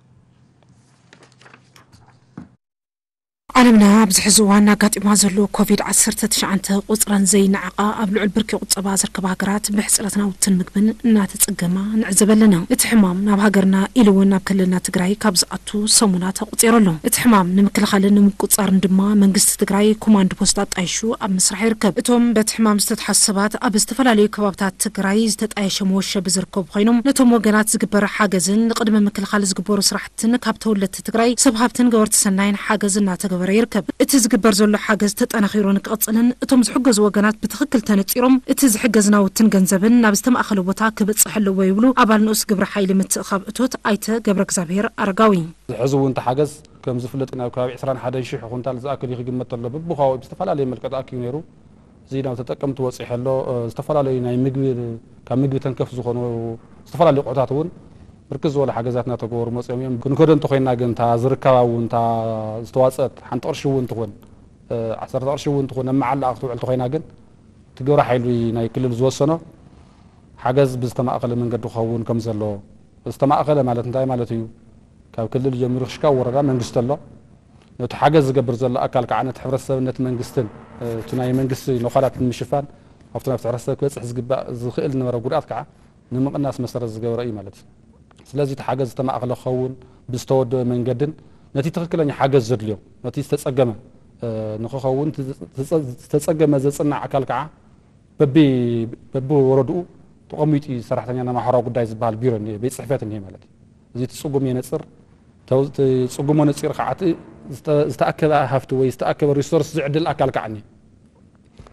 ዓለምና ኣብዚ ሕዚ እዋን ኣጋጢማ ዘሎ ኮቪድ ዓሰርተ ትሽዓተ ቁፅረን ዘይነዓቓ ኣብ ልዑል ብርኪ ቁጠባ ዝርከባ ሃገራት ብሕፅረት ናውትን ምግብን እናተፀገማ ንዕዘብ ኣለና። እቲ ሕማም ናብ ሃገርና ኢሉ እውን ናብ ክልልና ትግራይ ካብ ዝኣቱ ሰሙናት ኣቑፂሩ ኣሎ። እቲ ሕማም ንምክልኻልን ንምቁፃርን ድማ መንግስቲ ትግራይ ኮማንድ ፖስት ኣጣይሹ ኣብ ምስራሕ ይርከብ። እቶም በቲ ሕማም ዝተትሓዙ ሰባት ኣብ ዝተፈላለዩ ከባብታት ትግራይ ዝተጣየሸ መወሸቢ ዝርከቡ ኮይኖም ነቶም ወገናት ዝግበር ሓገዝን ንቅድመ ምክልኻል ዝግበሩ ስራሕትን ካብ ተወለድቲ ትግራይ ሰብ ሃብትን ገበርቲ ሰናይን ሓገዝ እናተገበረ ይርከብ። እቲ ዝግበር ዘሎ ሓገዝ ተጠናኺሩ ንክቕፅልን እቶም ዝሕገዙ ወገናት ብትኽክል ተነፂሮም እቲ ዝሕገዝ ናውትን ገንዘብን ናብ ዝተማእኸለ ቦታ ክብፅሕ ኣለዎ ይብሉ ኣባል ንኡስ ግብረ ሓይሊ ምትእኻብ እቶት ኣይተ ገብረ እግዚኣብሔር ኣረጋዊ። ሕዚ እውን እቲ ሓገዝ ከም ዝፍለጥ ናብ ከባቢ ዕስራን ሓደን ሽሕ ኩንታል ዝኣክል እዩ ክግመት ተሎ በብኸባቢኡ ብዝተፈላለየ መልክዕ ተኣኪቡ ነይሩ። እዚ ናብ ተጠቀምቲ ወፂሑ ኣሎ። ዝተፈላለዩ ናይ ምግቢ ካብ ምግቢ ተንከፍ ዝኾኑ ዝተፈላለዩ ኣቑሑታት እውን ብርክት ዝበሉ ሓገዛት እናተገበሩ መፂኦም እዮም። ክንከዶ እንተኮይና ግን እታ ዝርከባ እውን እታ ዝተዋፀአት ሓንቲ ቅርሺ እውን ትኾን ዓሰርተ ቅርሺ እውን ትኾን ኣብ መዓላ ክትውዕል እንተኮይና ግን እቲ ግብረ ሓይሊ ናይ ክልል ዝወሰኖ ሓገዝ ብዝተማእኸለ መንገዲ ክኸውን ከም ዘለዎ ዝተማእኸለ ማለት እንታይ ማለት እዩ? ካብ ክልል ጀሚሩ ክሽካብ ወረዳ መንግስቲ ኣሎ። ነቲ ሓገዝ ዝገብር ዘሎ ኣካል ከዓ ነቲ ሕብረተሰብን ነቲ መንግስትን እቲ ናይ መንግስቲ ነዃላት ንምሽፋን ኣብቲ ናብቲ ሕብረተሰብ ክበፅሕ ዝግባእ ዝኽእል ዝነበረ ጉድኣት ከዓ ንምቕናስ መሰረት ዝገበረ እዩ ማለት እዩ። ስለዚ እቲ ሓገዝ ዝተማእኸለ ክኸውን ብዝተወደበ መንገድን ነቲ ትኽክለኛ ሓገዝ ዘድልዮ ነቲ ዝተፀገመ ንክኸውን ዝተፀገመ ዘፅናዕ ኣካል ከዓ በቢ በቢ ወረድኡ ተቐሚጡ እዩ ሰራሕተኛ ናይ ማሕበራዊ ጉዳይ ዝበሃል ቢሮ እኒሀ ቤት ፅሕፈት እኒሀ ማለት እዩ። እዚ እቲ ፅጉም የነፅር እቲ ፅጉሞ ነፂሩ ከዓ እቲ ዝተኣከበ ሃፍቲ ወይ ዝተኣከበ ሪሶርስ ዝዕድል ኣካል ከዓ እኒሀ።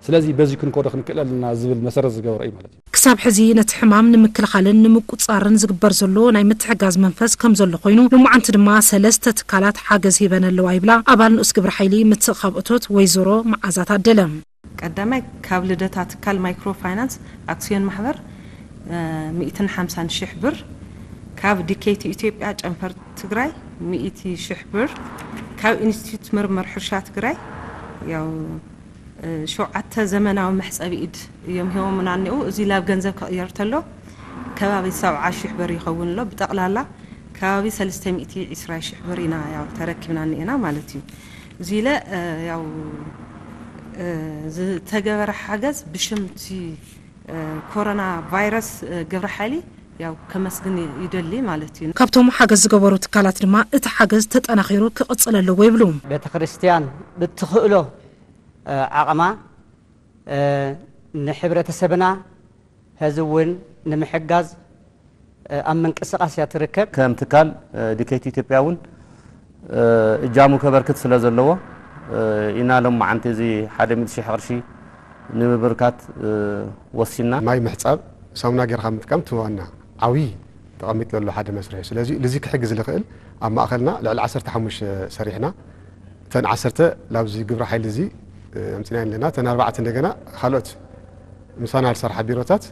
ስለዚ በዚ ክንከዶ ክንክእል ኣለና ዝብል መሰረት ዝገበረ እዩ ማለት እዩ። ክሳብ ሕዚ ነቲ ሕማም ንምክልኻልን ንምቁፅፃርን ዝግበር ዘሎ ናይ ምትሕጋዝ መንፈስ ከም ዘሎ ኮይኑ፣ ልሙዓንቲ ድማ ሰለስተ ትካላት ሓገዝ ሂበን ኣለዋ ይብላ ኣባል ንኡስ ግብረ ሓይሊ ምትእኻብ እቶት ወይዘሮ መዓዛ ታደለ። ቀዳማይ ካብ ልደታ ትካል ማይክሮ ፋይናንስ ኣክሲዮን ማሕበር ሚእትን ሓምሳን ሽሕ ብር፣ ካብ ዲኬቲ ኢትዮጵያ ጨንፈር ትግራይ ሚእቲ ሽሕ ብር፣ ካብ ኢንስቲትዩት ምርምር ሕርሻ ትግራይ ያው ሸውዓተ ዘመናዊ መሕፀቢ ኢድ እዮም ሂቦምና እኒኡ። እዚ ላብ ገንዘብ ክቕየር ተሎ ከባቢ ሰብዓ ሽሕ ብር ይኸውን ኣሎ። ብጠቕላላ ከባቢ ሰለስተ ሚእቲ ዕስራ ሽሕ ብር ኢና ያው ተረኪብና እኒኤና ማለት እዩ። እዚ ኢለ ያው ዝተገበረ ሓገዝ ብሽምቲ ኮሮና ቫይረስ ግብረ ሓይሊ ያው ከመስግን ይደሊ ማለት እዩ። ካብቶም ሓገዝ ዝገበሩ ትካላት ድማ እቲ ሓገዝ ተጠናኺሩ ክቕፅል ኣለዎ ይብሉ። ቤተ ክርስቲያን ብትኽእሎ ዓቕማ ንሕብረተሰብና ሕዚ እውን ንምሕጋዝ ኣብ ምንቅስቃስ እያ ትርከብ። ከም ትካል ዲኬቲ ኢትዮጵያ እውን እጃሙ ከበርክት ስለ ዘለዎ ኢና ሎም መዓንቲ እዚ ሓደ ሚእቲ ሽሕ ቅርሺ ንምብርካት ወሲና። ማይ ምሕፃብ ሳሙና ጌርካ ምጥቃም እቲ ዋና ዓብዪ ተቐሚጡ ዘሎ ሓደ መስርሕ እዩ። ስለዚ ልዚ ክሕግዝ ዝኽእል ኣብ ማእኸልና ልዕሊ ዓሰርተ ሓሙሽተ ሰሪሕና እተን ዓሰርተ ላብዚ ግብረ ሓይሊ እዚ ኣምፅና ኣለና። እተን ኣርባዕተ እንደገና ካልኦት ምሳና ዝሰርሓ ቢሮታት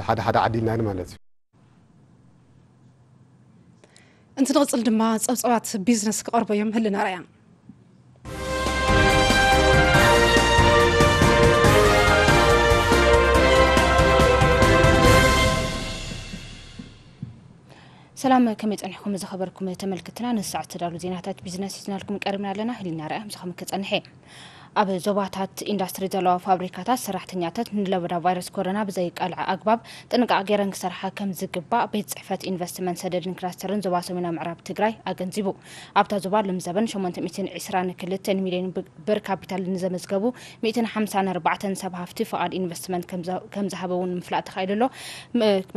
ሓደ ሓደ ዓዲልና ማለት እዩ። እንትንቕፅል ድማ ፀብፀባት ቢዝነስ ክቐርቡ እዮም። ህልና ራያ ሰላም ከመይ ፀኒሕኩም ዝኸበርኩም ተመልክትና ንሰዓት ተዳሉ ዜናታት ቢዝነስ ሒዝናልኩም ቀሪብና ኣለና። ህሊና ራያ ምሳኹም ክፀንሕ እየ። ኣብ ዞባታት ኢንዳስትሪ ዘለዋ ፋብሪካታት ሰራሕተኛታት ንለበዳ ቫይረስ ኮሮና ብዘይቃልዐ ኣግባብ ጥንቃቕ ገይረን ክሰርሓ ከም ዝግባእ ቤት ፅሕፈት ኢንቨስትመንት ሰደድን ክላስተርን ዞባ ሰሜናዊ ምዕራብ ትግራይ ኣገንዚቡ። ኣብታ ዞባ ሎም ዘበን ሸሞንተ ሚእትን ዕስራን ክልተን ሚልዮን ብር ካፒታል ንዘመዝገቡ ሚእትን ሓምሳን ኣርባዕተን ሰብ ሃፍቲ ፍቓድ ኢንቨስትመንት ከም ዝሃበ እውን ምፍላጥ ተኻኢሉ ኣሎ።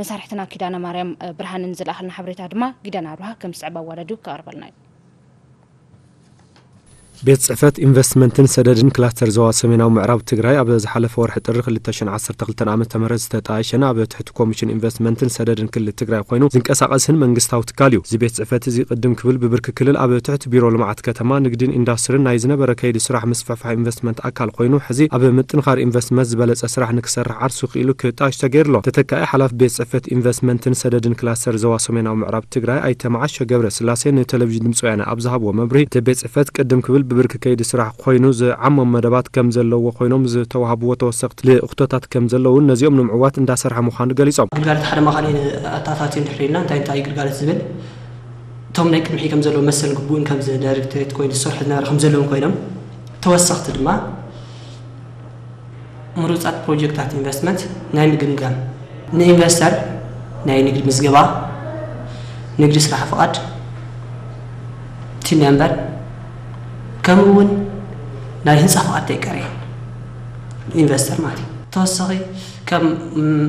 መሳርሕትና ኪዳነ ማርያም ብርሃንን ዝለኣኸልና ሓበሬታ ድማ ጊዳን ኣብርሃ ከም ዝስዕብ ኣዋዳዲኡ ክቐርበልና እዩ። ቤት ፅሕፈት ኢንቨስትመንትን ሰደድን ክላስተር ዞባ ሰሜናዊ ምዕራብ ትግራይ ኣብ ዝሓለፈ ወርሒ ጥሪ ክልተ ሽሕን ዓሰርተ ክልተን ዓመተ ምህረት ዝተጣየሸን ኣብ ትሕቲ ኮሚሽን ኢንቨስትመንትን ሰደድን ክልል ትግራይ ኮይኑ ዝንቀሳቐስን መንግስታዊ ትካል እዩ። እዚ ቤት ፅሕፈት እዚ ቅድም ክብል ብብርኪ ክልል ኣብ ትሕቲ ቢሮ ልምዓት ከተማ፣ ንግድን ኢንዳስትርን ናይ ዝነበረ ከይዲ ስራሕ ምስፍሕፋሕ ኢንቨስትመንት ኣካል ኮይኑ ሕዚ ኣብ ምጥንኻር ኢንቨስትመንት ዝበለፀ ስራሕ ንክሰርሕ ዓርሱ ክኢሉ ክጣየሽ ተገይሩ ኣሎ። ተተካኢ ሓላፊ ቤት ፅሕፈት ኢንቨስትመንትን ሰደድን ክላስተር ዞባ ሰሜናዊ ምዕራብ ትግራይ ኣይተ መዓሾ ገብረ ስላሴ ንቴሌቪዥን ድምፂ ወያነ ኣብ ዝሃብዎ መብርሂ፣ እቲ ቤት ፅሕፈት ቅድም ክብል ብብርኪ ከይዲ ስራሕ ኮይኑ ዝዓሞም መደባት ከም ዘለውዎ ኮይኖም ዝተዋህብዎ ተወሰኽቲ ልእኽቶታት ከም ዘለውን ነዚኦም ንምዕዋት እንዳሰርሐ ምዃኑ ገሊፆም። ግልጋሎት ሓደ ማእኸል ኣታታትዩ እንድሕር ኢልና እንታይ እንታይ እዩ ግልጋሎት ዝብል እቶም ናይ ቅድሚ ከም ዘለዉ መሰል ግቡእን ከም ዳይሬክቶሬት ኮይኑ ዝሰርሑ ዝነበረ ከም ዘለውን ኮይኖም ተወሰኽቲ ድማ ምሩፃት ፕሮጀክታት ኢንቨስትመንት ናይ ምግምጋም፣ ንኢንቨስተር ናይ ንግዲ ምዝገባ፣ ንግዲ ስራሕ ፍቓድ፣ ቲን ነምበር፣ ከምኡ እውን ናይ ህንፃ ፍቓድ ተይቀረየ ኢንቨስተር ማለት እዩ። ተወሳኺ ከም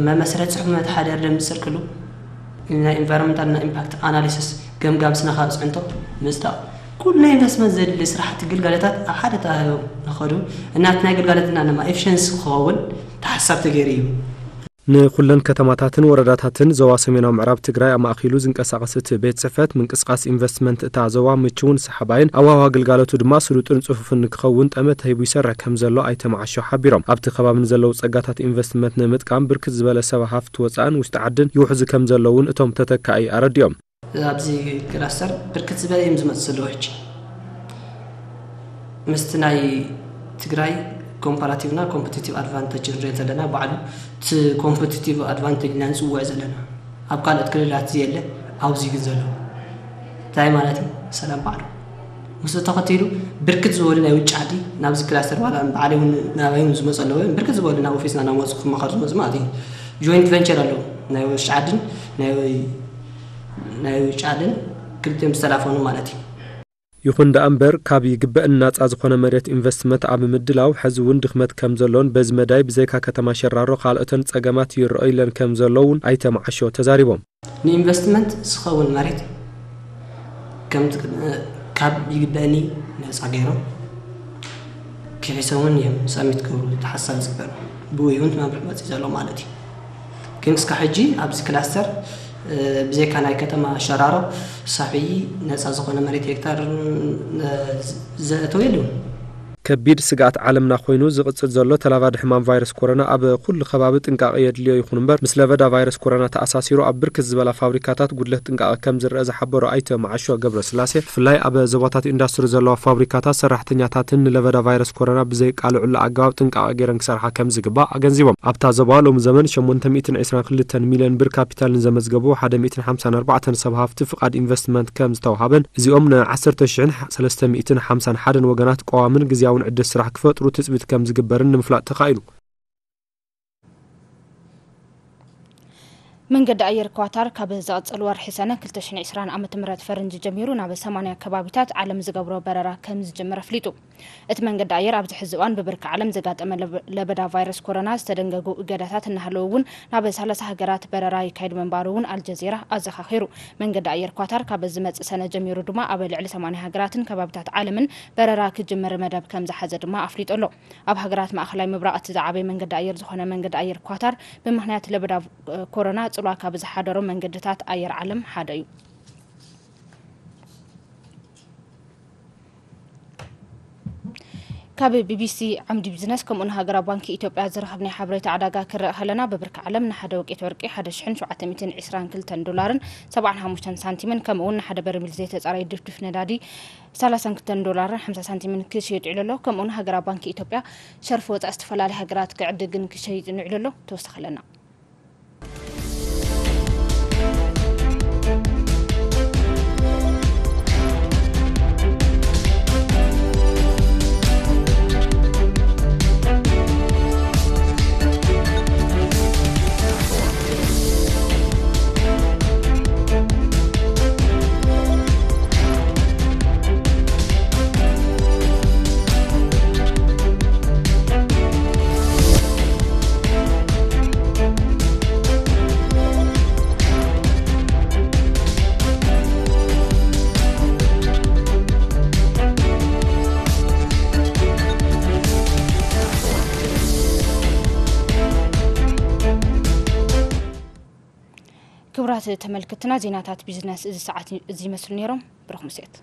መመስረት ፅሑፍ መተሓደሪ ደንቢ ዝፅድቅሉ ናይ ኢንቫይሮንመንታል እና ኢምፓክት ኣናሊሲስ ገምጋም ስነ ከባቢ ፅዕንቶ ምፅዳቕ ኩሉ ናይ ኢንቨስትመንት ዘድሊ ስራሕቲ ግልጋሎታት ኣብ ሓደ ተባሂቦም ንኸዱ እና እቲ ናይ ግልጋሎትና ድማ ኤፊሸንሲ ክኸውን ተሓሳብ ተገይሩ እዩ። ንኩለን ከተማታትን ወረዳታትን ዞባ ሰሜናዊ ምዕራብ ትግራይ ኣማእኪሉ ዝንቀሳቐስ እቲ ቤት ፅሕፈት ምንቅስቓስ ኢንቨስትመንት እታ ዞባ ምችውን ሰሓባይን ኣዋህባ ግልጋሎቱ ድማ ስሉጥን ፅፉፍን ንክኸውን ጠመተ ሂቡ ይሰርሕ ከም ዘሎ ኣይተ መዓሾ ሓቢሮም። ኣብቲ ከባቢ ንዘለዉ ፀጋታት ኢንቨስትመንት ንምጥቃም ብርክት ዝበለ ሰብ ሃፍቲ ወፃእን ውሽጢ ዓድን ይውሕዙ ከም ዘለውን እቶም ተተካኢ ኣረዲኦም። ኣብዚ ክላስተር ብርክት ዝበለ እዮም ዝመፁ ዘለዉ ሕጂ ምስቲ ናይ ትግራይ ኮምፓራቲቭ እና ኮምፒቲቲቭ ኣድቫንቴጅ ንሪኦ ዘለና ባዕሉ እቲ ኮምፒቲቲቭ ኣድቫንቴጅ ኢና ንፅውዕ ዘለና ኣብ ካልኦት ክልላት ዝየለ ኣብዚ ግን ዘሎ እንታይ ማለት እዩ ሰላም ባዕሉ ምስኡ ተኸቲሉ ብርክት ዝበሉ ናይ ውጭ ዓዲ ናብዚ ክላስተር ዋላ ባዕለይ እውን ናባይ እውን ዝመፁ ኣለዉ ብርክት ዝበሉ ናብ ኦፊስና እናመፁ ክመኸሩ ዝመፁ ማለት እዩ ጆይንት ቨንቸር ኣለዉ ናይ ውሽጢ ዓድን ናይ ናይ ውጭ ዓድን ክልቲኦም ዝተላፈኑ ማለት እዩ። ይኹን ደኣ እምበር ካብ ይግበእኒ ናፃ ዝኾነ መሬት ኢንቨስትመንት ኣብ ምድላው ሕዚ እውን ድኽመት ከም ዘሎን በዚ መዳይ ብዘይካ ከተማ ሸራሮ ካልኦተን ፀገማት ይረኣዩለን ከም ዘለውን ኣይተ መዓሾ ተዛሪቦም። ንኢንቨስትመንት ዝኸውን መሬት ከም ካብ ይግበእኒ ነፃ ገይሮም ክሒሶምን እዮም ሰሚት ክብሉ ተሓሳብ ዝግበር ብኡ እውን መምርሒ መፂእ ዘሎ ማለት እዩ። ግን እስካብ ሕጂ ኣብዚ ክላስተር፣ እ፣ ብዘይካ ናይ ከተማ ሸራሮ ሳሕቢ ነፃ ዝኾነ መሬት ሄክታር፣ እ፣ ዘእተወ የለን። ከቢድ ስግኣት ዓለምና ኮይኑ ዝቕጽል ዘሎ ተላባዲ ሕማም ቫይረስ ኮሮና ኣብ ኩሉ ከባቢ ጥንቃቐ የድልዮ ይኹን እምበር፣ ምስ ለበዳ ቫይረስ ኮሮና ተኣሳሲሩ ኣብ ብርክት ዝበላ ፋብሪካታት ጉድለት ጥንቃቐ ከም ዝረአ ዝሓበሩ ኣይተ መዓሾ ገብረስላሴ፣ ብፍላይ ኣብ ዞባታት ኢንዳስትሪ ዘለዋ ፋብሪካታት ሰራሕተኛታትን ንለበዳ ቫይረስ ኮሮና ብዘይቃልዑሉ ኣገባብ ጥንቃቐ ገይረን ክሰርሓ ከም ዝግባእ ኣገንዚቦም። ኣብታ ዞባ ሎሚ ዘመን ሸሞንተ ሚእትን ዕስራን ክልተን ሚልዮን ብር ካፒታል ንዘመዝገቡ ሓደ ሚእትን ሓምሳን ኣርባዕተን ሰብ ሃፍቲ ፍቓድ ኢንቨስትመንት ከም ዝተውሃበን፣ እዚኦም ን ዓሰርተ ሽሕን ሰለስተ ሚእትን ሓምሳን ሓደን ወገናት ቀዋምን ግዝያውን ዕድል ስራሕ ክፈጥሩ ትጽቢት ከም ዝግበርን ንምፍላጥ ተኻኢሉ። መንገዲ ኣየር ኳታር ካብ ዝቐጽል ወርሒ ሰነ ክልተ ሽሕን ዕስራን ዓመተ ምህረት ፈረንጂ ጀሚሩ ናብ ሰማንያ ከባቢታት ዓለም ዝገብሮ በረራ ከም ዝጀመረ ኣፍሊጡ። እቲ መንገዲ ኣየር ኣብዚ ሕዚ እዋን ብብርኪ ዓለም ዘጋጠመ ለበ-፣ ለበዳ ቫይረስ ኮሮና ዝተደንገጉ እገዳታት እናሃለዉ እውን ናብ ሰላሳ ሃገራት በረራ ይካየድ ምንባሩ እውን ኣልጀዚራ ኣዘኻኺሩ። መንገዲ ኣየር ኳታር ካብ ዝመጽእ ሰነ ጀሚሩ ድማ ኣብ ልዕሊ ሰማንያ ሃገራትን ከባቢታት ዓለምን በረራ ክጅምር መደብ ከም ዝሓዘ ድማ ኣፍሊጡ ኣሎ። ኣብ ሃገራት ማእኸላይ ምብራቕ እቲ ዝዓበየ መንገዲ ኣየር ዝኾነ መንገዲ ኣየር ኳታር ብምኽንያት ለበዳ ኮሮና ጽልዋ ካብ ዝሓደሩ መንገድታት ኣየር ዓለም ሓደ እዩ። ካብ ቢቢሲ ዓምዲ ቢዝነስ ከምኡ ንሃገራዊ ባንኪ ኢትዮጵያ ዝረኸብናዮ ሓበሬታ ዕዳጋ ክረአ ከለና፣ ብብርኪ ዓለም ንሓደ ወቄት ወርቂ ሓደ ሽሕን ሸውዓተ ሚእትን ዕስራን ክልተን ዶላርን ሰብዓን ሓሙሽተን ሳንቲምን፣ ከምኡ እውን ንሓደ በርሚል ዘይተጻረየ ድፍድፍ ነዳዲ ሰላሳን ክልተን ዶላርን ሓምሳ ሳንቲምን ክሽየጥ ይውዕል ኣሎ። ከምኡ እውን ሃገራዊ ባንኪ ኢትዮጵያ ሸርፊ ወጻኢ ዝተፈላለያ ሃገራት ክዕድግን ክሸይጥን ይውዕል ኣሎ። ተወሳኺ ኣለና። ክቡራት ተመልክትና፣ ዜናታት ቢዝነስ እዚ ሰዓት እዚ ይመስሉ ነይሮም። ብሩኽ ምሴት።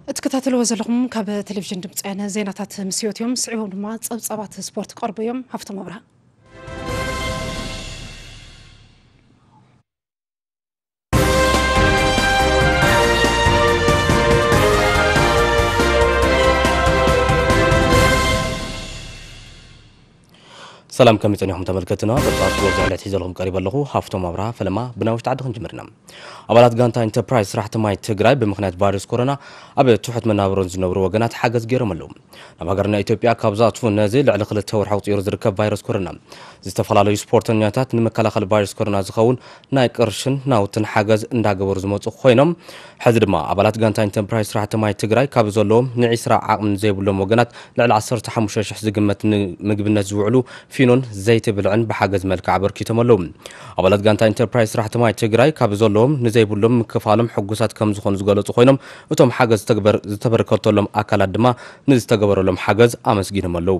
እትከታተልዎ ዘለኹም ካብ ቴሌቪዥን ድምፂ ወያነ ዜናታት ምስ ህይወት እዮም። ስዒቦም ድማ ጸብጻባት ስፖርት ክቐርቡ እዮም። ሃፍቶም ኣብርሃ። ሰላም፣ ከመይ ጸኒሕኩም ተመልከትና? ጸብጻብ ስፖርት ዝዕለት ሒዘልኩም ቀሪበ ኣለኹ። ሃፍቶም ኣብርሃ። ፈለማ ብናይ ውሽጢ ዓዲ ክንጅምር ኢና። ኣባላት ጋንታ ኢንተርፕራይዝ ስራሕቲ ማይ ትግራይ ብምኽንያት ቫይረስ ኮሮና ኣብ ትሑት መናብሮን ዝነብሩ ወገናት ሓገዝ ገይሮም ኣለዉ። ናብ ሃገርና ኢትዮጵያ ካብ ዝኣትፉ ነዚ ልዕሊ ክልተ ወርሒ ኣቑጺሩ ዝርከብ ቫይረስ ኮሮና፣ ዝተፈላለዩ ስፖርተኛታት ንምክልኻል ቫይረስ ኮሮና ዝኸውን ናይ ቅርሽን ናውትን ሓገዝ እንዳገበሩ ዝመጹ ኮይኖም፣ ሕዚ ድማ ኣባላት ጋንታ ኢንተርፕራይዝ ስራሕቲ ማይ ትግራይ ካብ ዘለዎም ንዒስራ ዓቕሚ ዘይብሎም ወገናት ልዕሊ ዓሰርተ ሓሙሽተ ሽሕ ዝግመት ንምግብነት ዝውዕሉ ፊኖን ዘይቲ ብልዕን ብሓገዝ መልክዕ ኣበርኪቶም ኣለዉ። ኣባላት ጋንታ ኢንተርፕራይዝ ስራሕቲ ማይ ትግራይ ካብ ዘለዎም ንዘይብሎም ምክፋሎም ሕጉሳት ከም ዝኾኑ ዝገለጹ ኮይኖም፣ እቶም ሓገዝ ዝተግበር-፣ ዝተበርከተሎም ኣካላት ድማ ንዝተገበረሎም ሓገዝ ኣመስጊኖም ኣለዉ።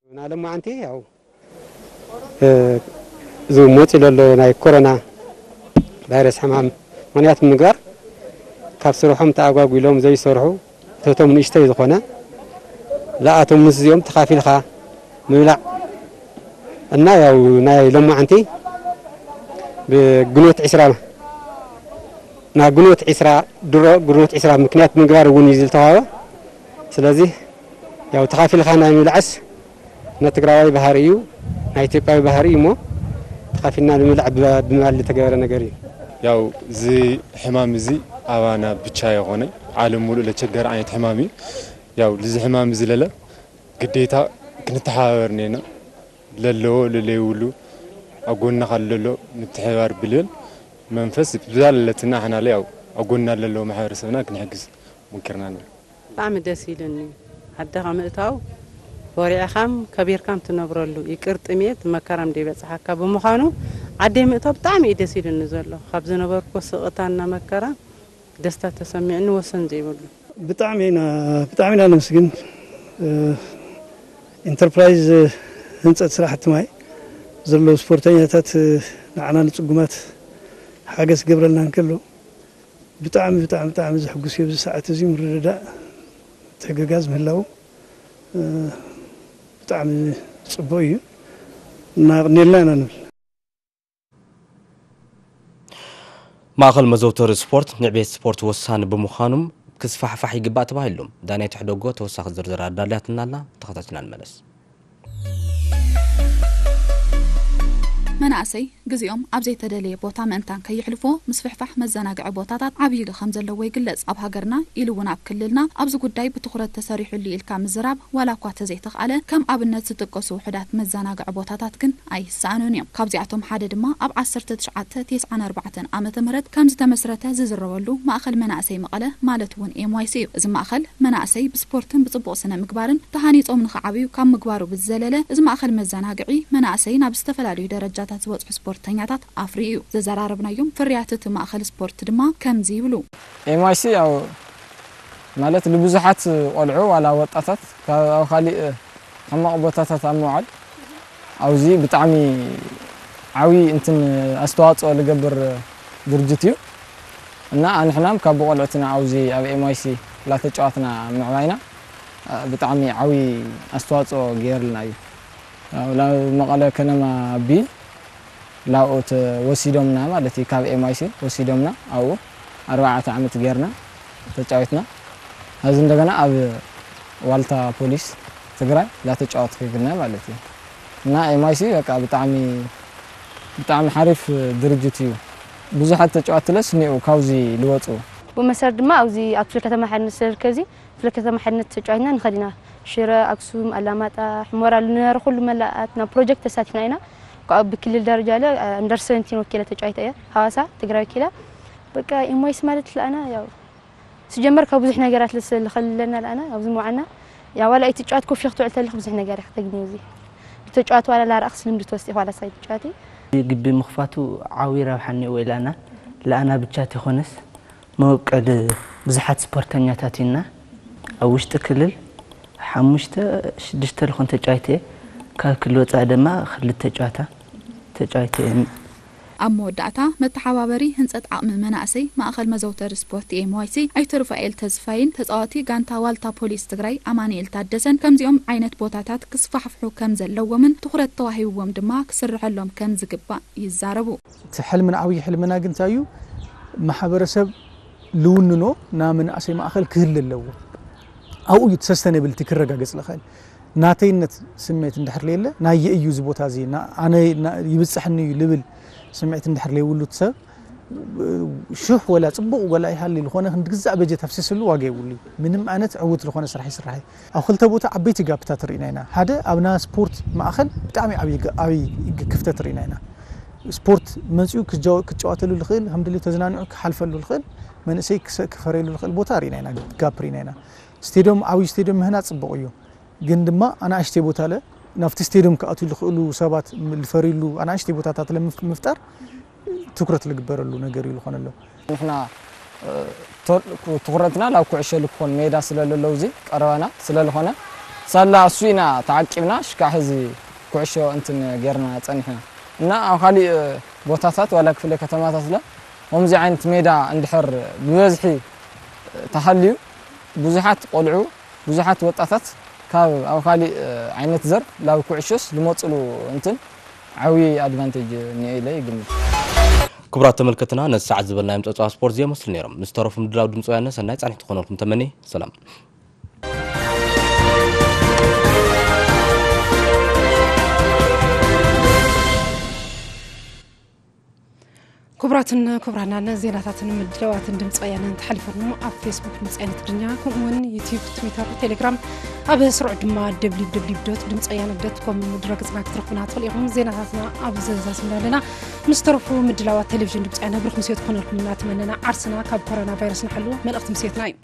ናሎም መዓንቲ ያው፣ እ፣ እዚ መፂኡ ዘሎ ናይ ኮሮና ቫይረስ ሕማም ምኽንያት ብምግባር ካብ ስርሖም ተኣጓጒሎም ዘይሰርሑ እቶቶም ንእሽተይ ዝኾነ ዝኣቶም ምስ እዚኦም ተኻፊልካ ምብላዕ እና ያው ናይ ሎማዓንቲ ብግንቦት ዒስራ ናብ ግንቦት ዒስራ ድሮ ግንቦት ዒስራ ምክንያት ምግባር እውን እዩ ዝተዋሃበ። ስለዚህ ያው ተኻፊልካ ናይ ምብላዕስ ናይ ትግራዋይ ባህሪ እዩ፣ ናይ ኢትዮጵያዊ ባህሪ እዩ እሞ ተኻፊልና ንምብላዕ ብ-፣ ብምባል ዝተገበረ ነገር እዩ። ያው እዚ ሕማም እዚ ኣባና ብቻ የኾነ ዓለም ሙሉእ ለቸገረ ዓይነት ሕማም እዩ። ያው ልዚ ሕማም እዚ ለለ ግዴታ ክንተሓባበር ኔና ለለዎ ለለይብሉ ኣብ ጎንና ካብ ለሎ ምትሕባር ብልብል መንፈስ ብዛለለትና ሕና ለያው ኣብ ጎንና ለለዎ ማሕበረሰብና ክንሕግዝ ሞኪርና ኣለና። ብጣዕሚ ደስ ኢሉኒ። ዓድኻ ምእታው ወሪዕኻም ከቢርካም ትነብረሉ ይቅር ጥሜት መከራም ደይበጽሓካ ብምዃኑ ዓደይ ምእታው ብጣዕሚ እዩ ደስ ኢሉኒ ዘሎ። ካብ ዝነበርኩ ስቕታና መከራ ደስታ ተሰሚዕኒ ወሰን ዘይብሉ። ብጣዕሚ ኢና፣ ብጣዕሚ ኢና ነመስግን። እ፣ ኢንተርፕራይዝ ህንፀት ስራሕቲ ማይ ዘለዉ ስፖርተኛታት፣ እ፣ ንዓና ንፅጉማት ሓገዝ ክገብረልና እንከሎ ብጣዕሚ፣ ብጣዕሚ፣ ብጣዕሚ ዘሕጉስ እዩ። ኣብዚ ሰዓት እዚ ምርድዳእ፣ ተገጋዝ ምህላው፣ እ፣ ብጣዕሚ ጽቡቕ እዩ። እናቕኔልና ኢና ንብል። ማእኸል መዘውተሪ ስፖርት ንዕቤት ስፖርት ወሳኒ ብምዃኑም ክስፋሕፋሕ ይግባእ ተባሂሉ። ዳናይት ሕደጎ ተወሳኺ ዝርዝር ኣዳልያትና ኣላ፣ ተኸታቲልና ንመለስ። መናእሰይ ግዜኦም ኣብ ዘይተደለየ ቦታ ምእንታን ከየሕልፎ ምስፍሕፋሕ መዘናግዒ ቦታታት ዓብዪ ግደ ከም ዘለዎ ይግለጽ። ኣብ ሃገርና ኢሉ እውን ኣብ ክልልና ኣብዚ ጉዳይ ብትኹረት ተሰሪሑሉ ኢልካ ምዝራብ ዋላ እኳ ተዘይተኽኣለ፣ ከም ኣብነት ዝጥቀሱ ውሑዳት መዘናግዒ ቦታታት ግን ኣይሰኣኑን እዮም። ካብዚኣቶም ሓደ ድማ ኣብ ዓሰርተ ትሽዓተ ተስዓን ኣርባዕተን ዓመተ ምህረት ከም ዝተመስረተ ዝዝረበሉ ማእኸል መናእሰይ መቐለ ማለት እውን ኤም ዋይ ሲ እዩ። እዚ ማእኸል መናእሰይ ብስፖርትን ብጽቡቕ ስነ ምግባርን ተሃኒጾም ንኽዓብዩ ካብ ምግባሩ ብዝዘለለ፣ እዚ ማእኸል መዘናግዒ መናእሰይ ናብ ዝተፈላለዩ ደረጃታት ዝበጽሑ ስፖርተኛታት ኣፍርዩ እዩ። ዘዘራረብናዮም ፍርያት እቲ ማእኸል ስፖርት ድማ ከምዚ ይብሉ። ኤም ዋይ ሲ ያው ማለት ንብዙሓት ቆልዑ ዋላ ወጣታት ካብ ኣብ ካሊእ ሕማቕ ቦታታት ኣብ ምውዓል ኣብዚ ብጣዕሚ ዓብዪ እንትን ኣስተዋፅኦ ዝገብር ድርጅት እዩ። እና ኣንሕናም ካብ ቆልዑትና ኣብዚ ኣብ ኤም ዋይ ሲ ላተጫዋትና ምዕባይና ብጣዕሚ ዓብዪ ኣስተዋፅኦ ገይርልና እዩ። ያው ላብ መቐለ ከነማ ቢ ላብኡ ተወሲዶምና ማለት እዩ። ካብ ኤም ዋይ ሲ ወሲዶምና ኣብኡ ኣርባዕተ ዓመት ጌርና ተጫዊትና። ኣብዚ እንደገና ኣብ ዋልታ ፖሊስ ትግራይ ላተጫወትኩ ይግነ ማለት እዩ። እና ኤም ዋይ ሲ በቃ ብጣዕሚ፣ ብጣዕሚ ሓሪፍ ድርጅት እዩ። ብዙሓት ተጫዋትለስ እኒኡ ካብዚ ልወፁ። ብመሰረት ድማ ኣብዚ ኣብ ክፍለ ከተማ ሓድነት ስለዝርከብ እዚ ክፍለ ከተማ ሓድነት ተጫዊትና ንኸድ ኢና። ሽረ፣ ኣክሱም፣ ኣላማጣ፣ ሕሞራ ዝነበረ ኩሉ መላኣት ናብ ፕሮጀክት ተሳቲፍና ኢና። ካብኡ ብክልል ደረጃ ለ ኣንደር ሰቨንቲን ወኪለ ተጫዊተ እየ። ሃዋሳ ትግራይ ወኪለ። በቃ ኤም ዋይ ሲ ማለት ለኣና ያው ስጀመር ካብ ብዙሕ ነገራት ለስ-፣ ልኸልለና ለኣና ኣብዚ መውዓና ያው ዋላ ኣይትጫወት ኮፍ ኢልክ ትውዕል ተለኽ ብዙሕ ነገር ኢኻ ተግንዩ። እዚ ብተጫዋት ዋላ ላረኣኽስ ልምዲ ትወስድ ኢኻ ዋላ ሳይትጫወቲ። ግቢ ምኽፋቱ ዓብዪ ረብሓ እኒኦ ወይ ለኣና፣ ለኣና ብቻ ተይኮነስ መበቀል ብዙሓት ስፖርተኛታት ኢና። ኣብ ውሽጢ ክልል ሓሙሽተ ሽዱሽተ ልኾን ተጫዋይተ እየ። ካብ ክልል ወፃኢ ድማ ክልተ ጨዋታ ተጫዋይተ እየ። ኣብ መወዳእታ መተሓባበሪ ህንፀት ዓቕሚ መናእሰይ ማእኸል መዘውተሪ ስፖርት ኤም ዋይ ሲ ኣይተ ሩፋኤል ተስፋይን ተፃዋቲ ጋንታ ዋልታ ፖሊስ ትግራይ ኣማኑኤል ታደሰን ከምዚኦም ዓይነት ቦታታት ክስፋሕፍሑ ከም ዘለዎምን ትኹረት ተዋሂብዎም ድማ ክስርሐሎም ከም ዝግባእ ይዛረቡ። እቲ ሕልምና፣ ዓብዪ ሕልምና ግን እንታይ እዩ? ማሕበረሰብ ልውንኖ ናብ መናእሰይ ማእኸል ክህሉ ኣለዎ። ኣብኡ እዩ ሰስተነብልቲ ክረጋገጽ ዝኽእል። ናተይነት ስሜት እንድሕር ለየለ፣ ናየ እዩ እዚ ቦታ እዚ፣ ና-፣ ኣነ ና-፣ ይብጽሕኒ እዩ ልብል ስሜት እንድሕር ለይብሉ እቲ ሰብ፣ ሽሕ ወላ ጽቡቕ ወላ ይሃሊ ዝኾነ ክንዲ ግዛእ በጀት ኣፍሲስሉ ዋጋ የብሉ እዩ። ምንም ዓይነት ዕዉት ዝኾነ ስራሕ ይስራሕ እዩ። ኣብ ክልተ ቦታ ዓበይቲ ጋፕታት ርኢና ኢና። ሓደ ኣብና ስፖርት ማእኸል ብጣዕሚ ዓብዪ ጋ-፣ ዓብዪ ግ-፣ ክፍተት ርኢና ኢና። ስፖርት መጺኡ ክጃወ-፣ ክጫወተሉ ዝኽእል፣ ከም ድልዩ ተዝናንዑ ክሓልፈሉ ዝኽእል፣ መንእሰይ ክሰ-፣ ክፈርየሉ ዝኽእል ቦታ ርኢና ኢና፣ ጋፕ ርኢና ኢና። ስቴድዮም፣ ዓብዪ ስቴድዮም ምህናጽ ጽቡቕ እዩ። ግን ድማ ኣናእሽተይ ቦታ ለ ናብቲ ስቴድዮም ክኣትዉ ዝኽእሉ ሰባት ም-፣ ዝፈርዩሉ ኣናእሽተይ ቦታታት ለ ምፍ-፣ ምፍጣር ትኩረት ዝግበረሉ ነገር እዩ ዝኾነሎ። ንሕና፣ እ፣ ቶ-፣ ትኹረትና ናብ ኩዕሾ ልኮን ሜዳ ስለ ለለው እዚ ቀረባና ስለ ዝኾነ ሳላ እሱ ኢና ተዓቂብና ሽካዕ ሕዚ ኩዕሾ እንትን ጌርና ጸኒሕና። እና ኣብ ካሊእ ቦታታት ዋላ ክፍለ ከተማታት ለ ከምዚ ዓይነት ሜዳ እንድሕር ብበዝሒ ተሃልዩ ብዙሓት ቆልዑ ብዙሓት ወጣታት ካብ ኣብ ካሊእ ዓይነት ዘርፍ ላብ ኩዕሾስ ልመፅሉ እንትን ዓብዪ ኣድቫንቴጅ እኒኦ ኢለ ይግምት። ክቡራት ተመልከትና፣ ነዚ ሰዓት ዝበልናዮም ፀብፃብ ስፖርት እዚኦም መስሉ ነይሮም። ምስ ተረፉ ምድላው ድምፂ ወያነ ሰናይ ፃንሒት ክኾነልኩም ተመኒ። ሰላም። ክቡራትን ክቡራናን ዜናታትን ምድላዋትን ድምፂ ወያነ እንተሓሊፈኑ ኣብ ፌስቡክ ድምፂ ወያነ ትግርኛ፣ ከምኡ እውን ዩቲዩብ፣ ትዊተር፣ ቴሌግራም፣ ኣብ ስሩዕ ድማ ደብሊው ደብሊው ደብሊው ዶት ድምፂ ወያነ ዶት ኮም ድረገፅና ክትረኽቡና ትኽእሉ ኢኹም። ዜናታትና ኣብ ዘዛዝምና ኣለና። ምስ ተረፉ ምድላዋት ቴሌቪዥን ድምፂ ወያነ ብሩኽ ምሴት ክኾነልኩም እናተመነና ዓርስና ካብ ኮሮና ቫይረስ ንሓሉ መልእኽቲ ምሴትና እዩ።